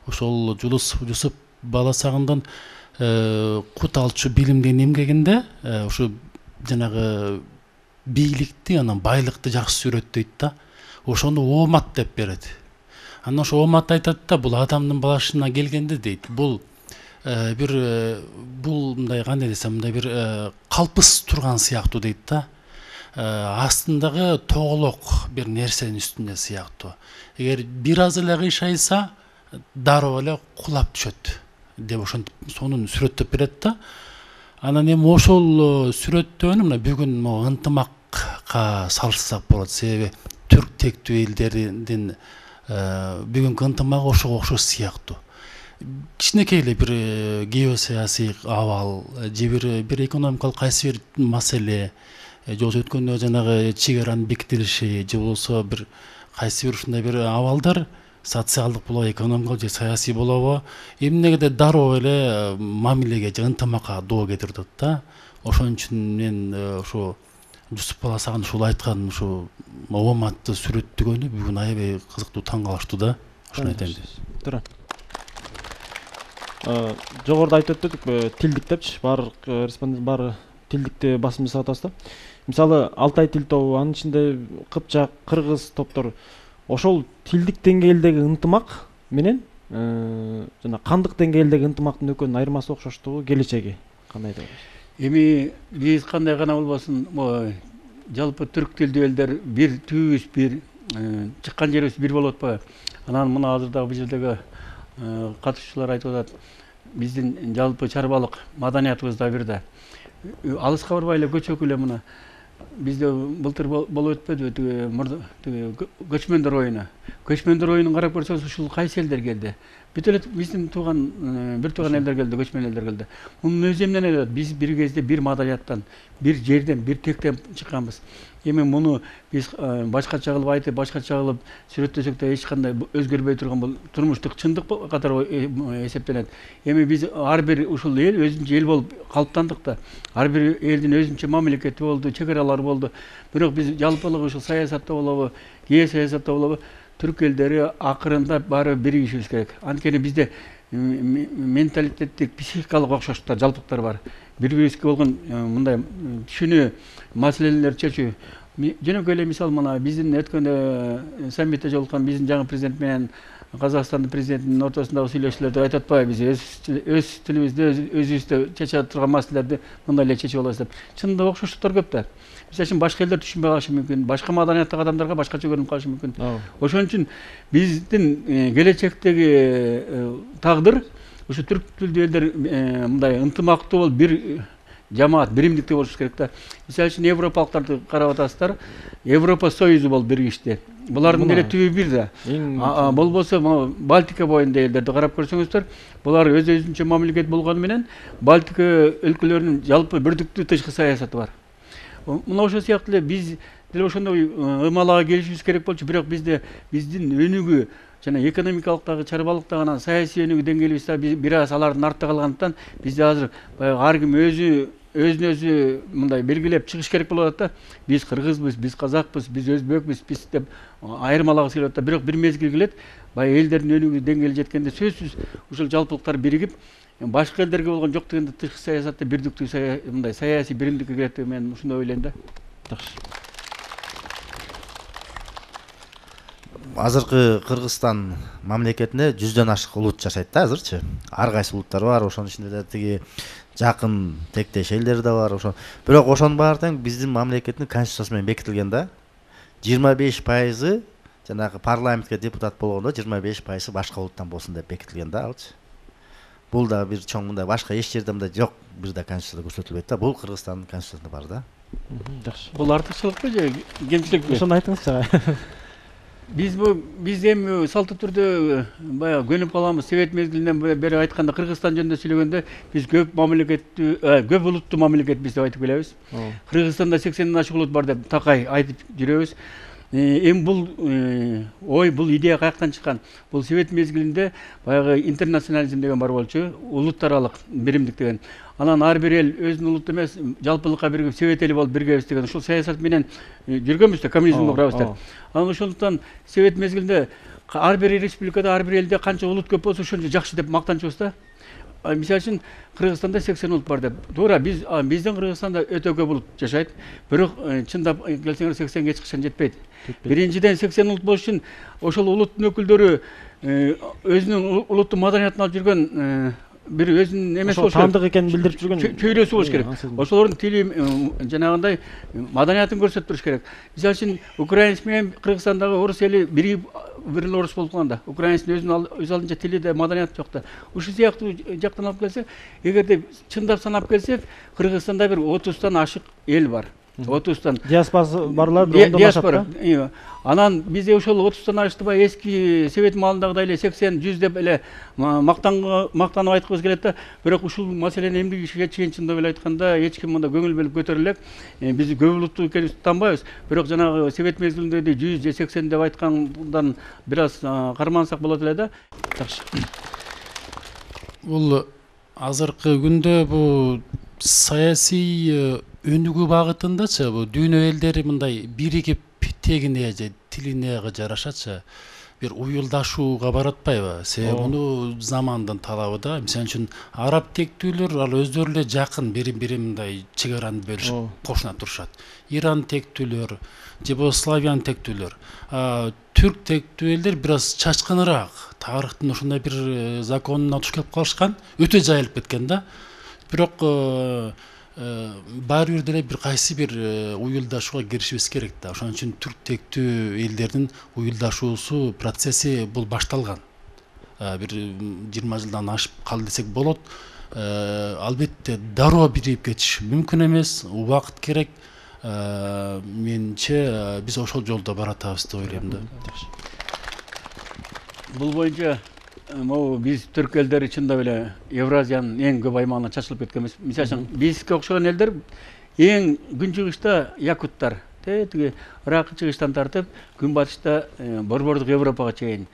Ошол Жусуп Баласагындан кут алчу билимден эмгегинде ушу жанагы бийликти, анан байлыкты жакшы сүрөттөйт да. Ошону оомат деп берет. Анан ошо оомат айтат да, бул адамдын башына келгенде дейт, бул мындай кандай десем, мындай бир калпыс турган сыяктуу дейт да. Астындагы тоголок бир нерсенин үстүндө сыяктуу. Эгер бир аз эле кыйшайса, дароо эле кулап түшөт деп ошентип сонун сүрөттөп берет да. Анан эми ошол сүрөттөөнү мына бүгүн ынтымакка салышсак болот. Себеби түрк тектүү элдердин бүгүнкү ынтымагы ошого окшош сыяктуу. Кичинекей эле бир геосаясий абал же бир экономикалык кайсы бир маселе, же болбосо өткөндө жанагы чек аранын бекитилиши, же болбосо бир кайсы бир ушундай бир абалдар социалдык болобу, экономикалык же саясий болобу, эмнегеде дароо эле мамилеге же ынтымакка доо кетирет да. Ошон үчүн мен ошо Жусуп Баласагын ушул айткан ушу ооматты сүрөттөгөнү бүгүн аябай кызыктуу, таң калыштуу да. Ошону айтайын деп. Жогоруда айтып өттүк, тилдик депчи, баардык респондент баары тилдикти басым жасап атабыз да. Мисалы Алтай тил тобу, анын ичинде кыпчак, кыргыз топтор, ошол тилдик деңгээлдеги ынтымак менен жана кандык деңгээлдеги ынтымактын экөөнүн айырмасы окшоштугу, келечеги кандай деп ойлойсуз? Эми биз кандай гана болбосун, жалпы түрк тилдүү элдер бир түбүбүз, бир чыккан жерибиз бир болуп атпайбы? Анан мына азырдагы бул жердеги катышуучулар айтып атат, биздин жалпы чарбалык маданиятыбыз да бир да. Алыска барбай эле көчөкү эле мына бизде былтыр болуп өтпөдүбү тиги көчмөндөр оюну. Көчмөндөр оюнун карап көрсөңүз ушул кайсы элдер келди? Бүт эле биздин бир тууган элдер келди, көчмөн элдер келди. Мунун өзү эмнеден эле биз бир кезде бир маданияттан, бир жерден, бир тектен чыкканбыз. Эми муну биз башкача кылып айтып, башкача кылып сүрөттөсөк да эч кандай өзгөрбөй турган бул турмуштук чындык катары эсептелет. Эми биз ар бир ушул эл өзүнчө эл болуп калыптандык да. Ар бир элдин өзүнчө мамлекети болду, чек аралары болду. Бирок биз жалпылык ушул саясатта болобу, геосаясатта болобу, түрк элдери акырында баары биригишибиз керек. Анткени бизде менталитеттик, психикалык окшоштуктар, жалпылыктар бар. Бири-бирибизге болгон мындай түшүнүү, маселелерди чечүү. Жөнөкөй эле мисал мына биздин өткөндө саммитте жолуккан биздин жаңы президент менен Казакстандын президентинин ортосундагы сүйлөшүүлөрдө айтып атпайбы, биз өз тилибизде, өзүбүздө чече турган маселелерди мындай эле чечип алабыз деп. Чынында окшоштуктар көп да. Мисалы үчүн башка элдер түшүнбөй калышы мүмкүн, башка маданияттагы адамдарга башкача көрүнүп калышы мүмкүн. Ошон үчүн биздин келечектеги тагдыр ушу түрк тилдүү элдер мындай ынтымактуу болуп бир жамаат, биримдикте болуш керек да. Мисалы үчүн европалыктарды карап атасыздар, Европа союзу болуп биригишти. Булардын деле түбү бир да. Болбосо Балтика боюнда элдерди карап көрсөңүздөр, булар өзүнчө мамлекет болгону менен Балтика өлкөлөрүнүн жалпы бирдиктүү тышкы саясаты бар. Мына ошол сыяктуу эле биз деле ошондой ымалага келишибиз керек болчу, бирок биздин өнүгүү жана экономикалыктагы, чарбалыктагы, анан саясий өнүгүү деңгээлибиз бир аз алардын артта калгандыктан бизде азыр ар ким өзүн өзү мындай белгилеп чыгыш керек болуп атат да. Биз кыргызбыз, биз казакпыз, биз өзбекпиз, биз деп айырмалагыбыз келип атат. Бирок бир мезгил келет, баягы элдердин өнүгүү деңгээли жеткенде сөзсүз ушул жалпылыктар биригип, башка элдерге болгон жок дегенде тышкы саясатта бирдиктүү мындай саясий биримдикке кирет деп мен ушундай ойлойм да. Жакшы. Азыркы Кыргызстан мамлекетинде 100дөн ашык улут жашайт да азырчы. Ар кайсы улуттар бар, ошонун ичинде да тиги жакын тектеш элдер да бар, ошон. Бирок ошонун баары тең биздин мамлекеттин конституциясы менен бекитилген да. 25% жанагы парламентке депутат болгондо 25% башка улуттан болсун деп бекитилген да алчы. Бул да бир чоң мындай башка эч жерде мындай жок, бир да конституцияда көрсөтүлбөйт да. Бул Кыргызстандын конституциясында бар да. Жакшы. Бул артыкчылыкпы же кемчиликпи? Ошону айтыңызчы. Биз эми салттуу түрдө баягы көнүп калабыз. Совет мезгилинен бери айтканда, Кыргызстан жөнүндө сүйлөгөндө биз көп улуттуу мамлекетпиз деп айтып келебиз. Кыргызстанда 80ден ашык улут бар деп такай айтып жүрөбүз. Эми бул ой, бул идея каяктан чыккан? Бул Совет мезгилинде баягы интернационализм деген бар болчу, улут аралык биримдик деген. Анан ар бир эл өзүнүн улутту эмес, жалпылыкка биригип Совет эли болуп биргебиз деген ушул саясат менен жүргөнбүз да, коммунизмди курабыз деп. Анан ошондуктан Совет мезгилинде ар бир республикада, ар бир элде канча улут көп болсо ошончо жакшы деп мактанчубуз да. Мисалы үчүн Кыргызстанда 80 улут бар деп. Туура, биздин Кыргызстанда өтө көп улут жашайт. Бирок чындап келсеңер 80ге эч качан жетпейт. Биринчиден 80 улут болуш үчүн ошол улуттун өкүлдөрү өзүнүн улуттук маданиятын алып жүргөн бир өзүнүн эмеси болуш керек. Таандык экенин билдирип жүргөн чөйрөсү болуш керек. Ошолордун тили жанагындай маданиятын көрсөтүп туруш керек. Мисалы үчүн украинец менен Кыргызстандагы орус эли биригип бир эле орус болуп калган да. Украинецтин өзүнүн өз алдынча тили да, маданияты жок да. Ушул сыяктуу жактан алып келсек, эгерде чындап санап келсек, Кыргызстанда бир 30тан ашык эл бар. 30тан. Диаспорасы барлар ондон ашат да. Анан бизде ошол 30тан ашты эски Совет маалындагыдай эле 80-100 деп эле мактанып айткыбыз келет да. Бирок ушул маселени эмгеги чечкен чындап эле айтканда эч ким мында көңүл бөлүп көтөрө элек. Биз көп улуттуу экенибизди таанбайбыз. Бирок жанагы Совет мезгилиндеги 100 же 80 деп айткандан бир аз кармансак болот эле да. Жакшы. Бул азыркы күндө бул саясий өнүгүү багытындачы бул дүйнө элдери мындай биригип тегине же тилине жарашачы бир уюлдашууга баратпайбы? Себеби муну замандын талабы да. Мисалы үчүн араб тектүүлөр ал өздөрү эле жакын бири-бири мындай чек араны бөлүшүп кошуна турушат. Иран тектүүлөр же болбосо славян тектүүлөр. Түрк тектүү элдер бир аз чачкыныраак, тарыхтын ушундай бир законуна туш келип калышкан, өтө жайылып кеткен да. Бирок баары бир деле бир кайсы бир уюлдашууга киришибиз керек да. Ошон үчүн түрк тектүү элдердин уюлдашуусу процесси бул башталган. Бир 20 жылдан ашып калды десек болот. Албетте дароо биригип кетиш мүмкүн эмес, убакыт керек. менимче биз ошол жолдо баратабыз деп ойлойм да. Бул боюнча могу биз түрк элдери чындап эле Евразиянын эң көп аймагына чачылып кеткенбиз. Мисалы үчүн бизге окшогон элдер эң күнчыгышта якуттар, тиги Ыракы чыгыштан тартып, күнбатышта Борбордук Европага чейин,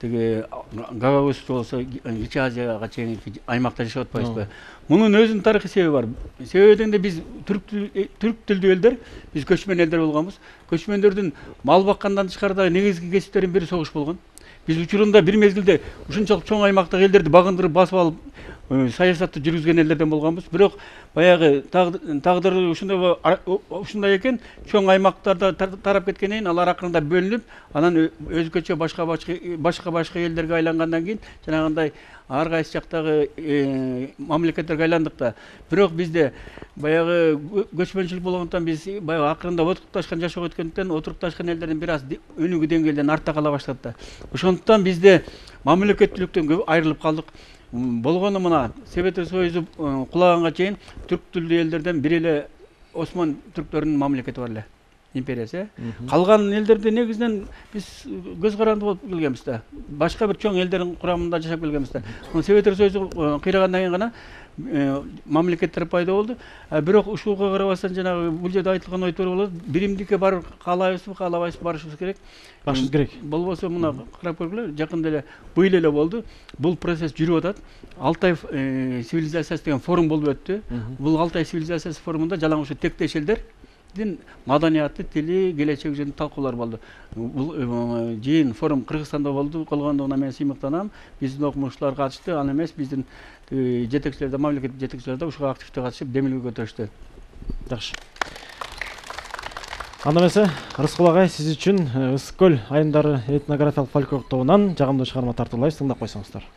тиги Гагаузчу болсо Кичи Азияга чейин аймакта жашап атпайбызбы? Мунун өзүнүн тарыхый себеби бар. Себеби дегенде биз түрк тилдүү элдер, биз көчмөн элдер болгонбуз. Көчмөндөрдүн мал баккандан тышкарыдагы негизги кесиптеринин бири согуш болгон. Биз учурунда бир мезгилде ушунчалык чоң аймактагы элдерди багындырып басып алып саясатты жүргүзгөн элдерден болгонбуз. Бирок баягы тагдыры ушундай экен, чоң аймактарда тарап кеткенден кийин алар акырында бөлүнүп, анан өзгөчө башка элдерге айлангандан кийин жанагындай ар кайсы жактагы мамлекеттерге айландык да. Бирок бизде баягы көчмөнчүлүк болгондуктан биз баягы акырында отурукташкан жашоого өткөндүктөн отурукташкан элдердин бир аз өнүгүү деңгээлден артта кала баштады да. Ошондуктан бизде мамлекеттүүлүктөн көп айрылып калдык. Болгону мына Советтер Союзу кулаганга чейин түрк тилдүү элдерден бир эле Осман түрктөрүнүн мамлекети бар эле, империясы. Калган элдерди негизинен биз көз каранды болуп келгенбиз да. Башка бир чоң элдердин курамында жашап келгенбиз да. Советтер Союзу кыйрагандан кийин гана мамлекеттер пайда болду. Бирок ушуга карабастан жанагы бул жерде айтылган ой туура болот. Биримдикке барып каалайбызбы, каалабайсызбы, барышыбыз керек. Барышыбыз керек. Болбосо мына карап көргүлө, жакында эле быйыл эле болду. Бул процесс жүрүп атат. Алтай цивилизациясы деген форум болуп өттү. Бул Алтай цивилизациясы форумунда жалаң ушу тектеш элдердин маданияты, тили, келечеги жөнүндө талкуулар болду. Бул жыйын форум Кыргызстанда болду. Колгондугуна мен сыймыктанам. Биздин окумуштуулар катышты, аны эмес биздин жетекчилер да, мамлекет жетекчилери да ушуга активдүү катышып, демилге көтөрүштү. Жакшы. Анда эмесе, Рыскул агай, сиз үчүн Ысык көл айымдары этнографиялык фольклор тобунан жагымдуу чыгарма тартуулайбыз, тыңдап койсоңуздар.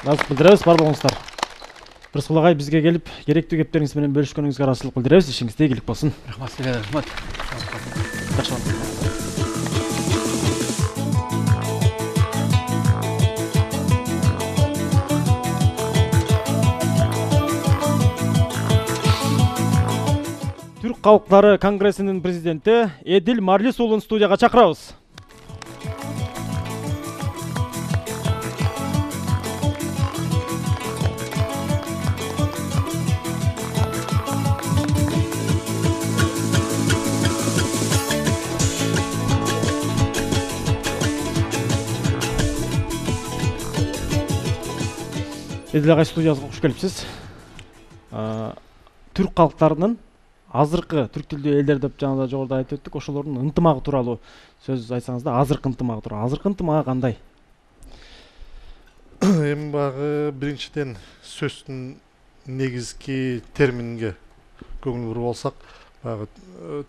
Назык билдиребиз, бар болуңуздар. Рыскул агай бизге келип, керектүү кептериңиз менен бөлүшкөнүңүзгө ыраазычылык билдиребиз. Ишиңизде ийгилик болсун. Рахмат сизге, рахмат. Жакшы. Түрк калктары конгрессинин президенти Эдил Марлис уулун студияга чакырабыз. Эдил агай, студиябызга кош келипсиз. Түрк калктарынын азыркы түрк тилдүү элдер деп жана жогоруда айтып өттүк, ошолордун ынтымагы тууралуу сөз айтсаңыз да, азыркы ынтымагы тууралуу. Азыркы ынтымагы кандай? Эми багы биринчиден сөздүн негизги терминге көңүл буруп алсак, багы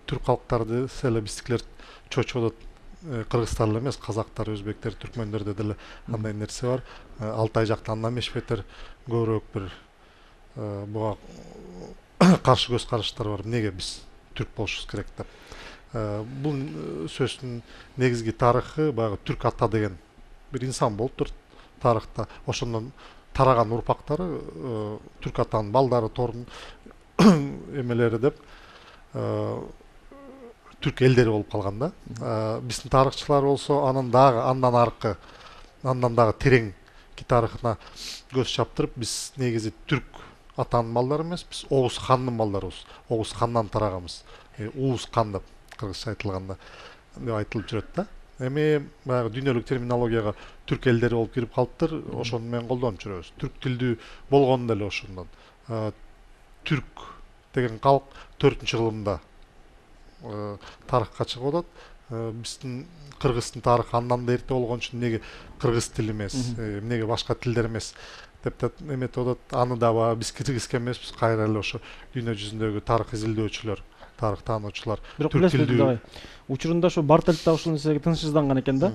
түрк калктарды эле биздикилер чочуп атат. Кыргызстан эле эмес, казактар, өзбектер, түркмөндөрдө деле андай нерсе бар. Алтай жакта андан эмес бетер көбүрөөк бир буга каршы көз караштар бар. Эмнеге биз түрк болушубуз керек деп. Бул сөздүн негизги тарыхы багы түрк ата деген бир инсан болуптур тарыхта. Ошондон тараган урпактары түрк атанын балдары, торун эмелери деп түрк элдери болуп калган да. Биздин тарыхчылар болсо андан дагы тереңки тарыхына көз чаптырып, биз негизи түрк атанын балдары эмес, биз Оғуз хандын балдарыбыз. Оғуз хандан тарагабыз. Уус хан деп кыргызча айтылганда деп айтылып жүрөт да. Эми баягы дүйнөлүк терминологияга түрк элдери болуп кирип калыптыр. Ошону менен колдонуп жүрөбүз. Түрк тилдүү болгону деле ошондон. Түрк деген калк 4-кылымда тарыхка чыгып атат. Биздин кыргыздын тарыхы андан да эрте болгон үчүн эмнеге кыргыз тили эмес, эмнеге башка тилдер эмес деп эметип атат. Аны да биз киргизген эмеспиз, кайра эле ошо дүйнө жүзүндөгү тарых изилдөөчүлөр, тарых таануучулар. Бирок билесиз, учурунда ошо Бартельт ушул нерсеге тынчсызданган экен да.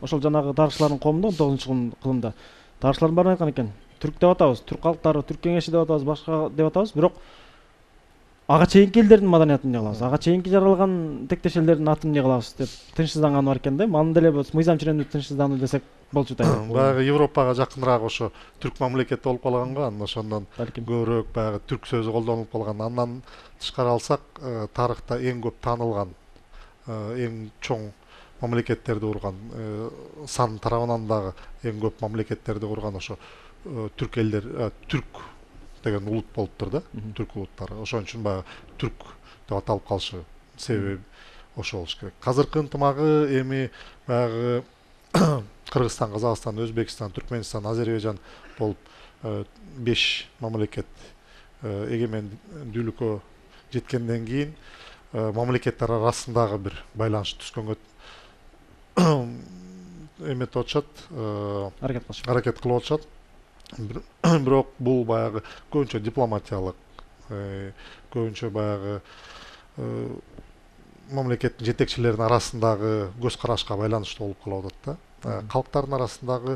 Ошол жанагы тарыхчылардын коомунда 19-кылымда тарыхчылардын баары айткан экен. Түрк деп атабыз, түрк калктары, түрк кеңеши деп атабыз, башка деп атабыз, бирок ага чейинки элдердин маданиятын эмне кылабыз, ага чейинки жаралган тектеш элдердин атын эмне кылабыз деп тынчсызданган бар экен да. Аны деле мыйзам чирендүү тынчсыздануу десек болчу да. Баягы Европага жакыныраак ошо түрк мамлекети болуп калган го, андан ошондон көбүрөөк баягы түрк сөзү колдонулуп калган. Андан тышкары алсак, тарыхта эң көп таанылган, эң чоң мамлекеттерди курган, сан тарабынан дагы эң көп мамлекеттерди курган ошо түрк элдер, түрк деген улут болуптур да, түрк улуттары. Ошон үчүн баягы түрк деп аталып калышы себеби ошол болуш керек. Азыркы ынтымагы эми баягы Кыргызстан, Казакстан, Өзбекстан, Түркмөнстан, Азербайжан болуп 5 мамлекет эгемендүүлүккө жеткенден кийин мамлекеттер арасындагы бир байланыш түзгөнгө эметип атышат, аракет кылып атышат. Бирок бул баягы көбүнчө дипломатиялык, көбүнчө баягы мамлекеттин жетекчилеринин арасындагы көз карашка байланыштуу болуп калып атат да. Калктардын арасындагы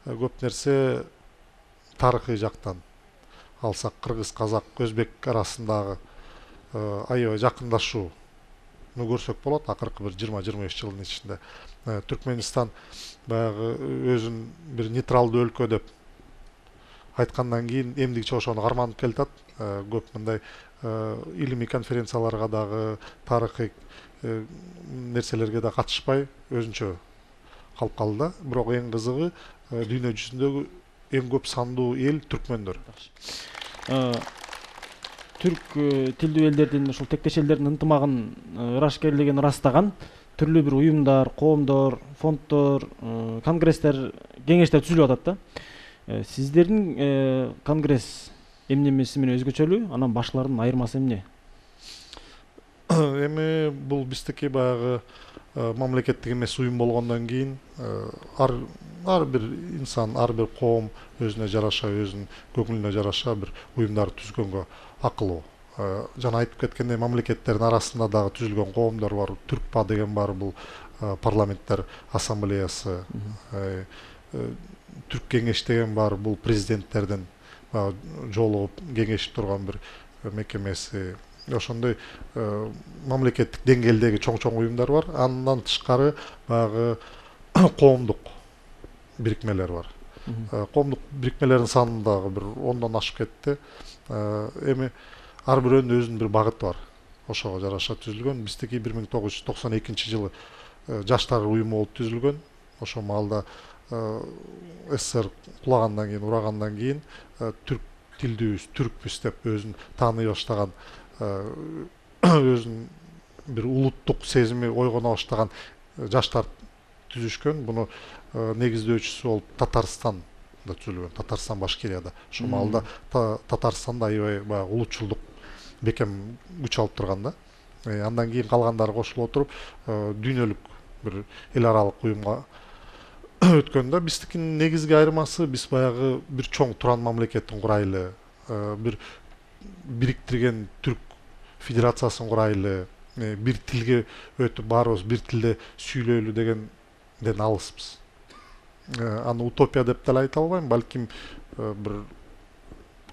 көп нерсе тарыхый жактан алсак, кыргыз, казак, өзбек арасындагы аябай жакындашууну көрсөк болот акыркы бир 20-25 жылдын ичинде. Түркмөнстан баягы өзүн бир нейтралдуу өлкө деп айткандан кийин эмдигиче ошону карманып келатат. Көп мындай илимий конференцияларга дагы, тарыхый нерселерге да катышпай өзүнчө калып калды да. Бирок эң кызыгы дүйнө жүзүндөгү эң көп сандуу эл түркмөндөр. Түрк тилдүү элдердин, ушул тектеш элдердин ынтымагын ырашкерлигин ырастаган түрлүү бир уюмдар, коомдор, фонддор, конгресстер, кеңештер түзүлүп атат да. Сиздердин конгресс эмнемеси менен өзгөчөлүү, анан башкалардын айырмасы эмне? Эми бул биздики баягы мамлекеттик эмес уюм болгондон кийин ар бир инсан, ар бир коом өзүнө жараша, өзүнүн көңүлүнө жараша бир уюмдар түзгөнгө акылуу. Жана айтып кеткендей, мамлекеттердин арасында дагы түзүлгөн коомдор бар. Түркпа деген бар, бул парламенттер ассамблеясы. Түрк кеңеш деген бар, бул президенттердин жолугуп кеңешип турган бир мекемеси. Ошондой мамлекеттик деңгээлдеги чоң уюмдар бар. Андан тышкары баягы коомдук бирикмелер бар. Коомдук бирикмелердин саны дагы бир 10дон ашып кетти. Эми ар бирөөнүн өзүнүн бир багыты бар. Ошого жараша түзүлгөн. Биздики 1992-жылы жаштар уюму болуп түзүлгөн. Ошол маалда СССР кулагандан кийин, урагандан кийин түрк тилдүүбүз, түркпүз деп өзүн тааный баштаган, өзүнүн бир улуттук сезими ойгоно баштаган жаштар түзүшкөн. Буну негиздөөчүсү болуп Татарстан түзүлгөн, Татарстан Башкирияда. Ошол маалда Татарстанда аябай баягы улутчулдук бекем күч алып турган да. Андан кийин калгандары кошулуп отуруп дүйнөлүк бир эл аралык уюмга өткөндө биздикинин негизги айырмасы биз баягы бир чоң туран мамлекеттин курайлы, бир бириктирген түрк федерациясын курайлы, бир тилге өтүп баарыбыз бир тилде сүйлөйлү дегенден алыспыз. Аны утопия деп деле айта албайм, балким бир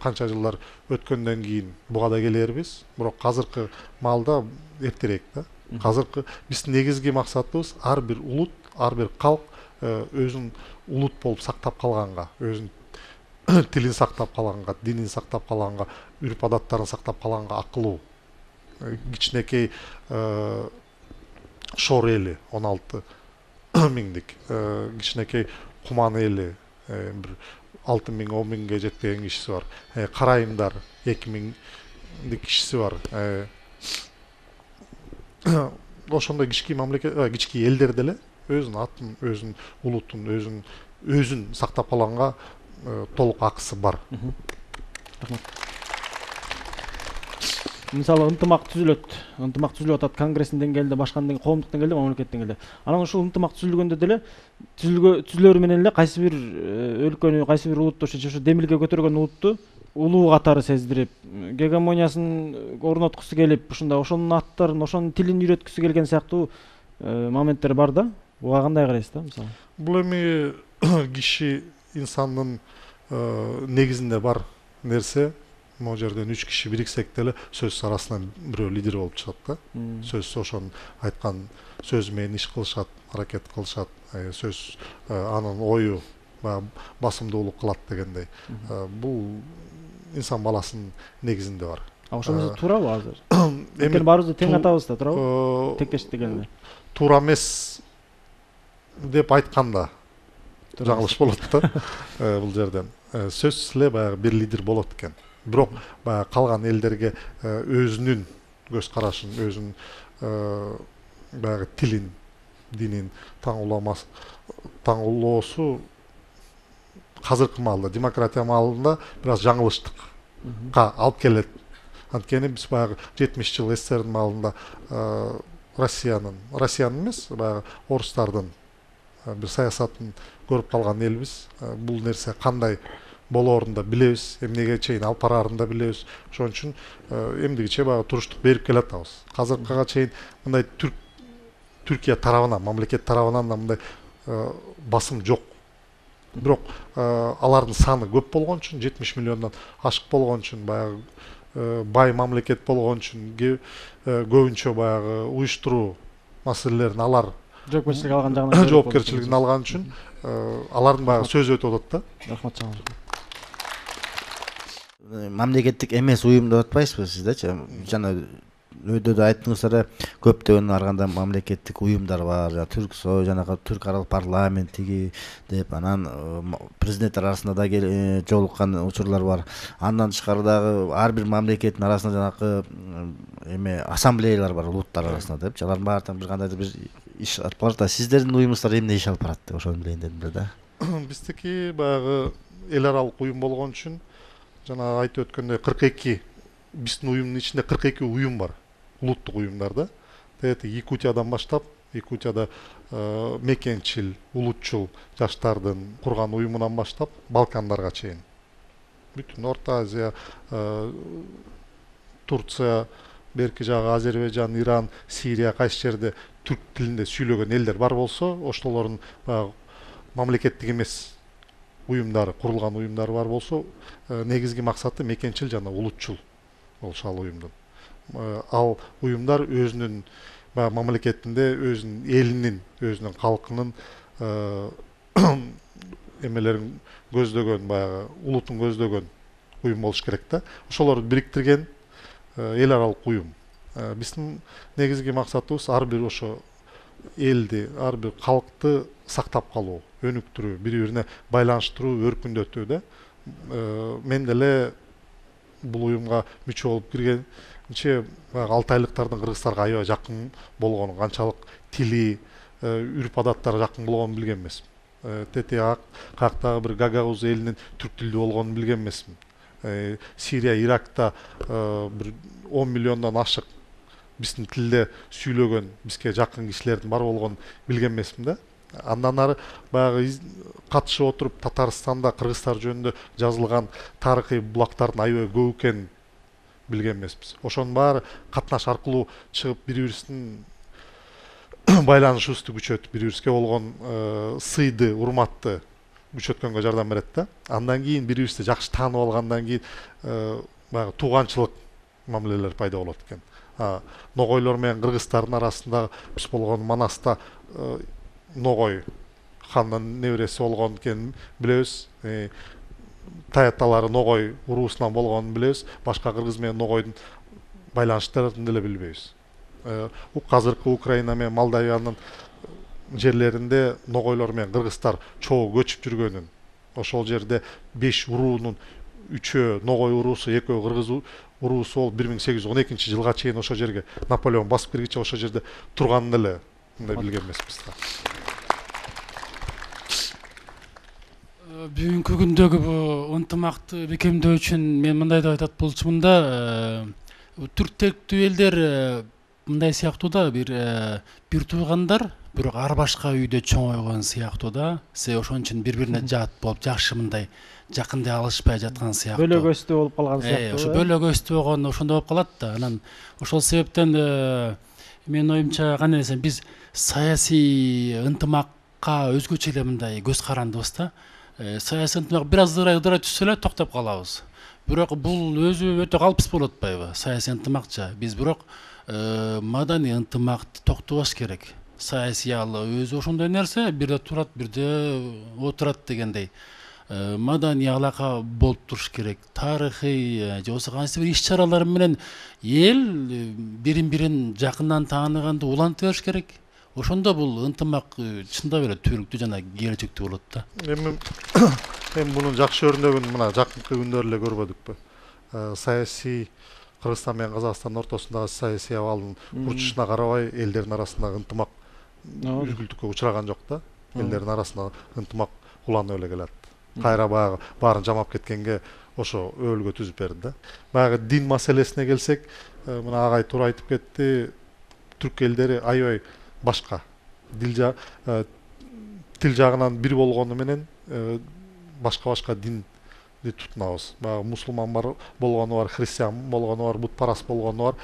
канча жылдар өткөндөн кийин буга да келербиз. Бирок азыркы маалда эртерээк да. Азыркы биздин негизги максатыбыз ар бир улут, ар бир калк өзүн улут болуп сактап калганга, өзүнүн тилин сактап калганга, динин сактап калганга, үрп адаттарын сактап калганга акылуу. Кичинекей Шор эли 16 миңдик, кичинекей Куман эли бир 6 миң, 10 миңге жетпеген кишиси бар. Карайымдар 2 миңдик кишиси бар. Ошондой кички мамлекет, кички элдер деле өзүнүн атын, өзүнүн улутун, өзүн сактап калганга толук акысы бар. Мисалы ынтымак түзүлүп атат Конгресстин деңгээлинде, башка коомдук деңгээлде, мамлекеттик деңгээлде. Анан ушул ынтымак түзүлгөндө деле түзүлөрү менен эле кайсы бир өлкөнү, кайсы бир улутту, ошо демилге көтөргөн улутту улуу катары сездирип, гегемониясын орноткусу келип, ушундай ошонун аттарын, ошонун тилин үйрөткүсү келген сыяктуу моменттер бар да. Буга кандай карайсыз да, мисалы? Бул эми киши инсандын негизинде бар нерсе. Могу жерден 3 киши бириксек деле сөз арасынан бирөө лидер болуп чыгат да. Сөз ошонун айткан сөзү менен иш кылышат, аракет кылышат. Сөз анын ою басымдуулук кылат дегендей. Бул инсан баласынын негизинде бар. Ошондо туурабы азыр? Эми баарыбызды тең атабыз да, туурабы? Тектеш дегенде. Туура эмес деп айтканда жаңылыш болот да. Бул жерден сөзсүз эле баягы бир лидер болот экен. Бирок баягы калган элдерге өзүнүн көз карашын, өзүнүн баягы тилин, динин таңуулоосу азыркы маалда, демократия маалында бир аз жаңылыштыкка алып келет. Анткени биз баягы 70 жыл СССРдин маалында Россиянын эмес, баягы орустардын бир саясатын көрүп калган элбиз. Бул нерсе кандай болоорун да билебиз, эмнеге чейин алып бараарын да билебиз. Ошон үчүн эмдигиче баягы туруштук берип келатабыз. Азыркыга чейин мындай Түркия тарабынан, мамлекет тарабынан да мындай басым жок. Бирок алардын саны көп болгон үчүн, 70 миллиондон ашык болгон үчүн, баягы бай мамлекет болгон үчүн көбүнчө баягы уюштуруу маселелерин алар жоопкерчилигин алган үчүн алардын баягы сөзү өтүп атат да. Рахмат чоң. Мамлекеттик эмес уюм деп атпайсызбы сиздечи? Жана өйдө айттыңыздар, көптөгөн арганда мамлекеттик уюмдар бар, Түрксой, жанагы Түрк аралык парламент тиги деп, анан президенттер арасында да жолуккан учурлар бар. Андан тышкары дагы ар бир мамлекеттин арасында жанагы ассамблеялар бар, улуттар арасында деп. Алардын баардыгы бир кандайдыр бир иш алып барат да. Сиздердин уюмуңуздар эмне иш алып барат деп ошону билейин дедим да. Биздики баягы эл аралык уюм болгон үчүн жана айтып өткөндөй 42 биздин уюмдун ичинде 42 уюм бар. Улуттук уюмдар да. Якутиядан баштап, Якутияда мекенчил, улутчул жаштардын курган уюмунан баштап Балкандарга чейин. Бүтүн Орто Азия, Турция, берки жагы Азербайжан, Иран, Сирия кайсы жерде түрк тилинде сүйлөгөн элдер бар болсо, ошолордун мамлекеттик эмес уюмдары, курулган уюмдары бар болсо, негизги максаты мекенчил жана улутчул болушал уюмдун. Ал уюмдар өзүнүн мамлекетинде өзүнүн элинин, өзүнүн калкынын эмелерин көздөгөн, баягы улутун көздөгөн уюм болуш керек да. Ошолорду бириктирген эл аралык уюм. Биздин негизги максатыбыз ар бир ошо элди, ар бир калкты сактап калуу, өнүктүрүү, бири-бирине байланыштыруу, өркүндөтүү да. Мен деле бул уюмга мүчө болуп киргенче алтайлыктардын кыргыздарга аябай жакын болгонун, канчалык тили, үрп адаттары жакын болгонун билген эмесмин. тете каяктагы бир Гагауз элинин түрк тилдүү болгонун билген эмесмин. Сирия, Иракта бир 10 миллиондон ашык биздин тилде сүйлөгөн, бизге жакын кишилердин бар болгонун билген эмесмин да. Андан ары баягы катышып отуруп Татарстанда кыргыздар жөнүндө жазылган тарыхый булактардын аябай көп экенин билген эмеспиз. Ошонун баары катнаш аркылуу чыгып бири-бирибиздин байланышыбызды күчөтүп, бири-бирибизге болгон сыйды, урматты күчөткөнгө жардам берет да. Андан кийин бири-бирибизди жакшы таанып алгандан кийин баягы тууганчылык мамилелер пайда болот экен. Ногойлор менен кыргыздардын арасында биз болгон Манаста Ногой хандын небереси болгон экенин билебиз. Таяталары Ногой уруусунан болгонун билебиз. Башка кыргыз менен Ногойдун байланыштарын деле билбейбиз. Азыркы Украина менен Молдавиянын жерлеринде Ногойлор менен кыргыздар чогуу көчүп жүргөнүн, ошол жерде 5 уруунун 3-өө Ногой уруусу, 2-өө кыргыз уруусу болуп 1812-жылга чейин ошол жерге Наполеон басып киргиче ошол жерде турганын эле билген эмеспиз да. Бүгүнкү күндөгү бул ынтымакты бекемдөө үчүн мен мындай деп айтат болчумун да, түрк тилдүү элдер мындай сыяктуу да, бир туугандар, бирок ар башка үйдө чоңойгон сыяктуу да. Себеби ошон үчүн бири-бирине жат болуп, жакшы мындай жакындай алышпай жаткан сыяктуу. Бөлөгөстүү болуп калган сыяктуу. Ошо бөлөгөстүү болгон ошондой болуп калат да. Анан ошол себептен менин оюмча кандай десем, биз саясий ынтымакка өзгөчө эле мындай көз карандыбыз да. Саясий ынтымак бир аз ыдырай түшсө эле токтоп калабыз. Бирок бул өзү өтө калпсыз болуп атпайбы? Саясий ынтымакча. Биз бирок маданий ынтымакты токтобош керек. Саясиялы өзү ошондой нерсе, бирде турат, бирде отурат дегендей. Маданий алака болуп туруш керек. Тарыхый же болбосо кайсы бир иш-чаралар менен эл бирин-бирин жакындан тааныганды улантып бериш керек. Ошондо бул ынтымак чындап эле түбөлүктүү жана келечектүү болот да. Эми мунун жакшы өрнөгүн мына жакынкы күндөр эле көрбөдүкпү? Саясий Кыргызстан менен Казакстандын ортосундагы саясий абалдын урчушуна карабай элдердин арасындагы ынтымак үзгүлтүккө учураган жок да. Элдердин арасында ынтымак уланып эле келат. Кайра баягы баарын жамап кеткенге ошо өбөлгө түзүп берди да. Баягы дин маселесине келсек, мына агай туура айтып кетти. Түрк элдери аябай башка. Тил жагынан бир болгону менен башка динди тутунабыз. Баягы мусулман бар болгону бар, христиан болгону бар, бутпарас болгону бар.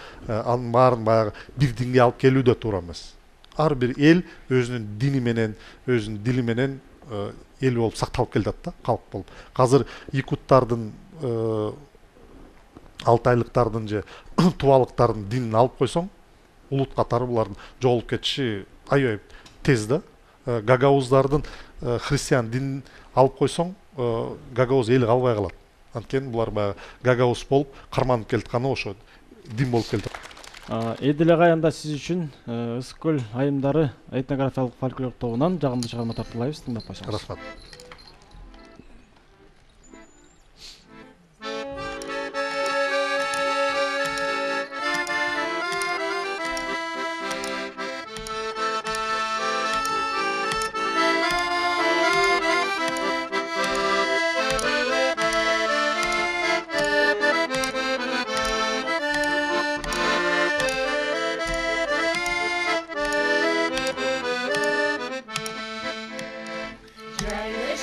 Анын баарын баягы бир динге алып келүү да туура эмес. Ар бир эл өзүнүн дини менен, өзүнүн дили менен эл болуп сакталып келет да, калк болуп. Азыр якуттардын, алтайлыктардын же тубалыктардын динин алып койсоң, улут катары булардын жоголуп кетиши аябай тез да. Гагауздардын христиан динин алып койсоң, Гагауз эли калбай калат. Анткени булар баягы Гагауз болуп карманып келатканы ошо дин болуп келди. Эдил агай, анда сиз үчүн Ысык көл айымдары этнографиялык фольклор тобунан жагымдуу чыгарма тартуулайбыз, тыңдап коесуңуз. Рахмат. Жайлы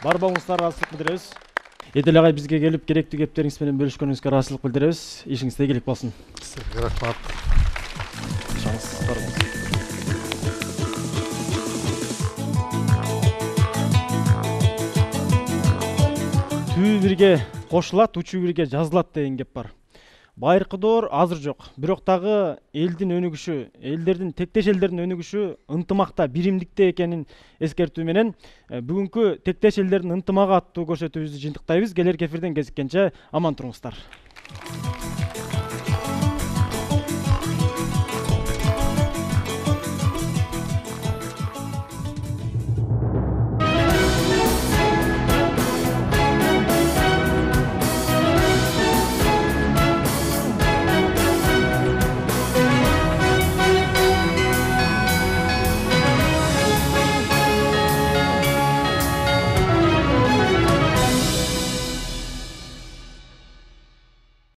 барбауыңызга ыраазычылык билдиребиз. Эдил агай бизге келип керектүү кептериңиз менен бөлүшкөнүңүзгө ыраазычылык билдиребиз. Ишиңизде ийгилик болсун. Сизге рахмат. Түбү бирге кошулат, учуу бирге жазылат деген кеп бар. Байыркы доор азыр жок. Бирок дагы элдин өнүгүшү, тектеш элдердин өнүгүшү ынтымакта, биримдикте экенин эскертүү менен бүгүнкү тектеш элдердин ынтымагы аттуу көрсөтүүбүздү жыйынтыктайбыз. Келерки эфирден кезиккенче аман туруңуздар.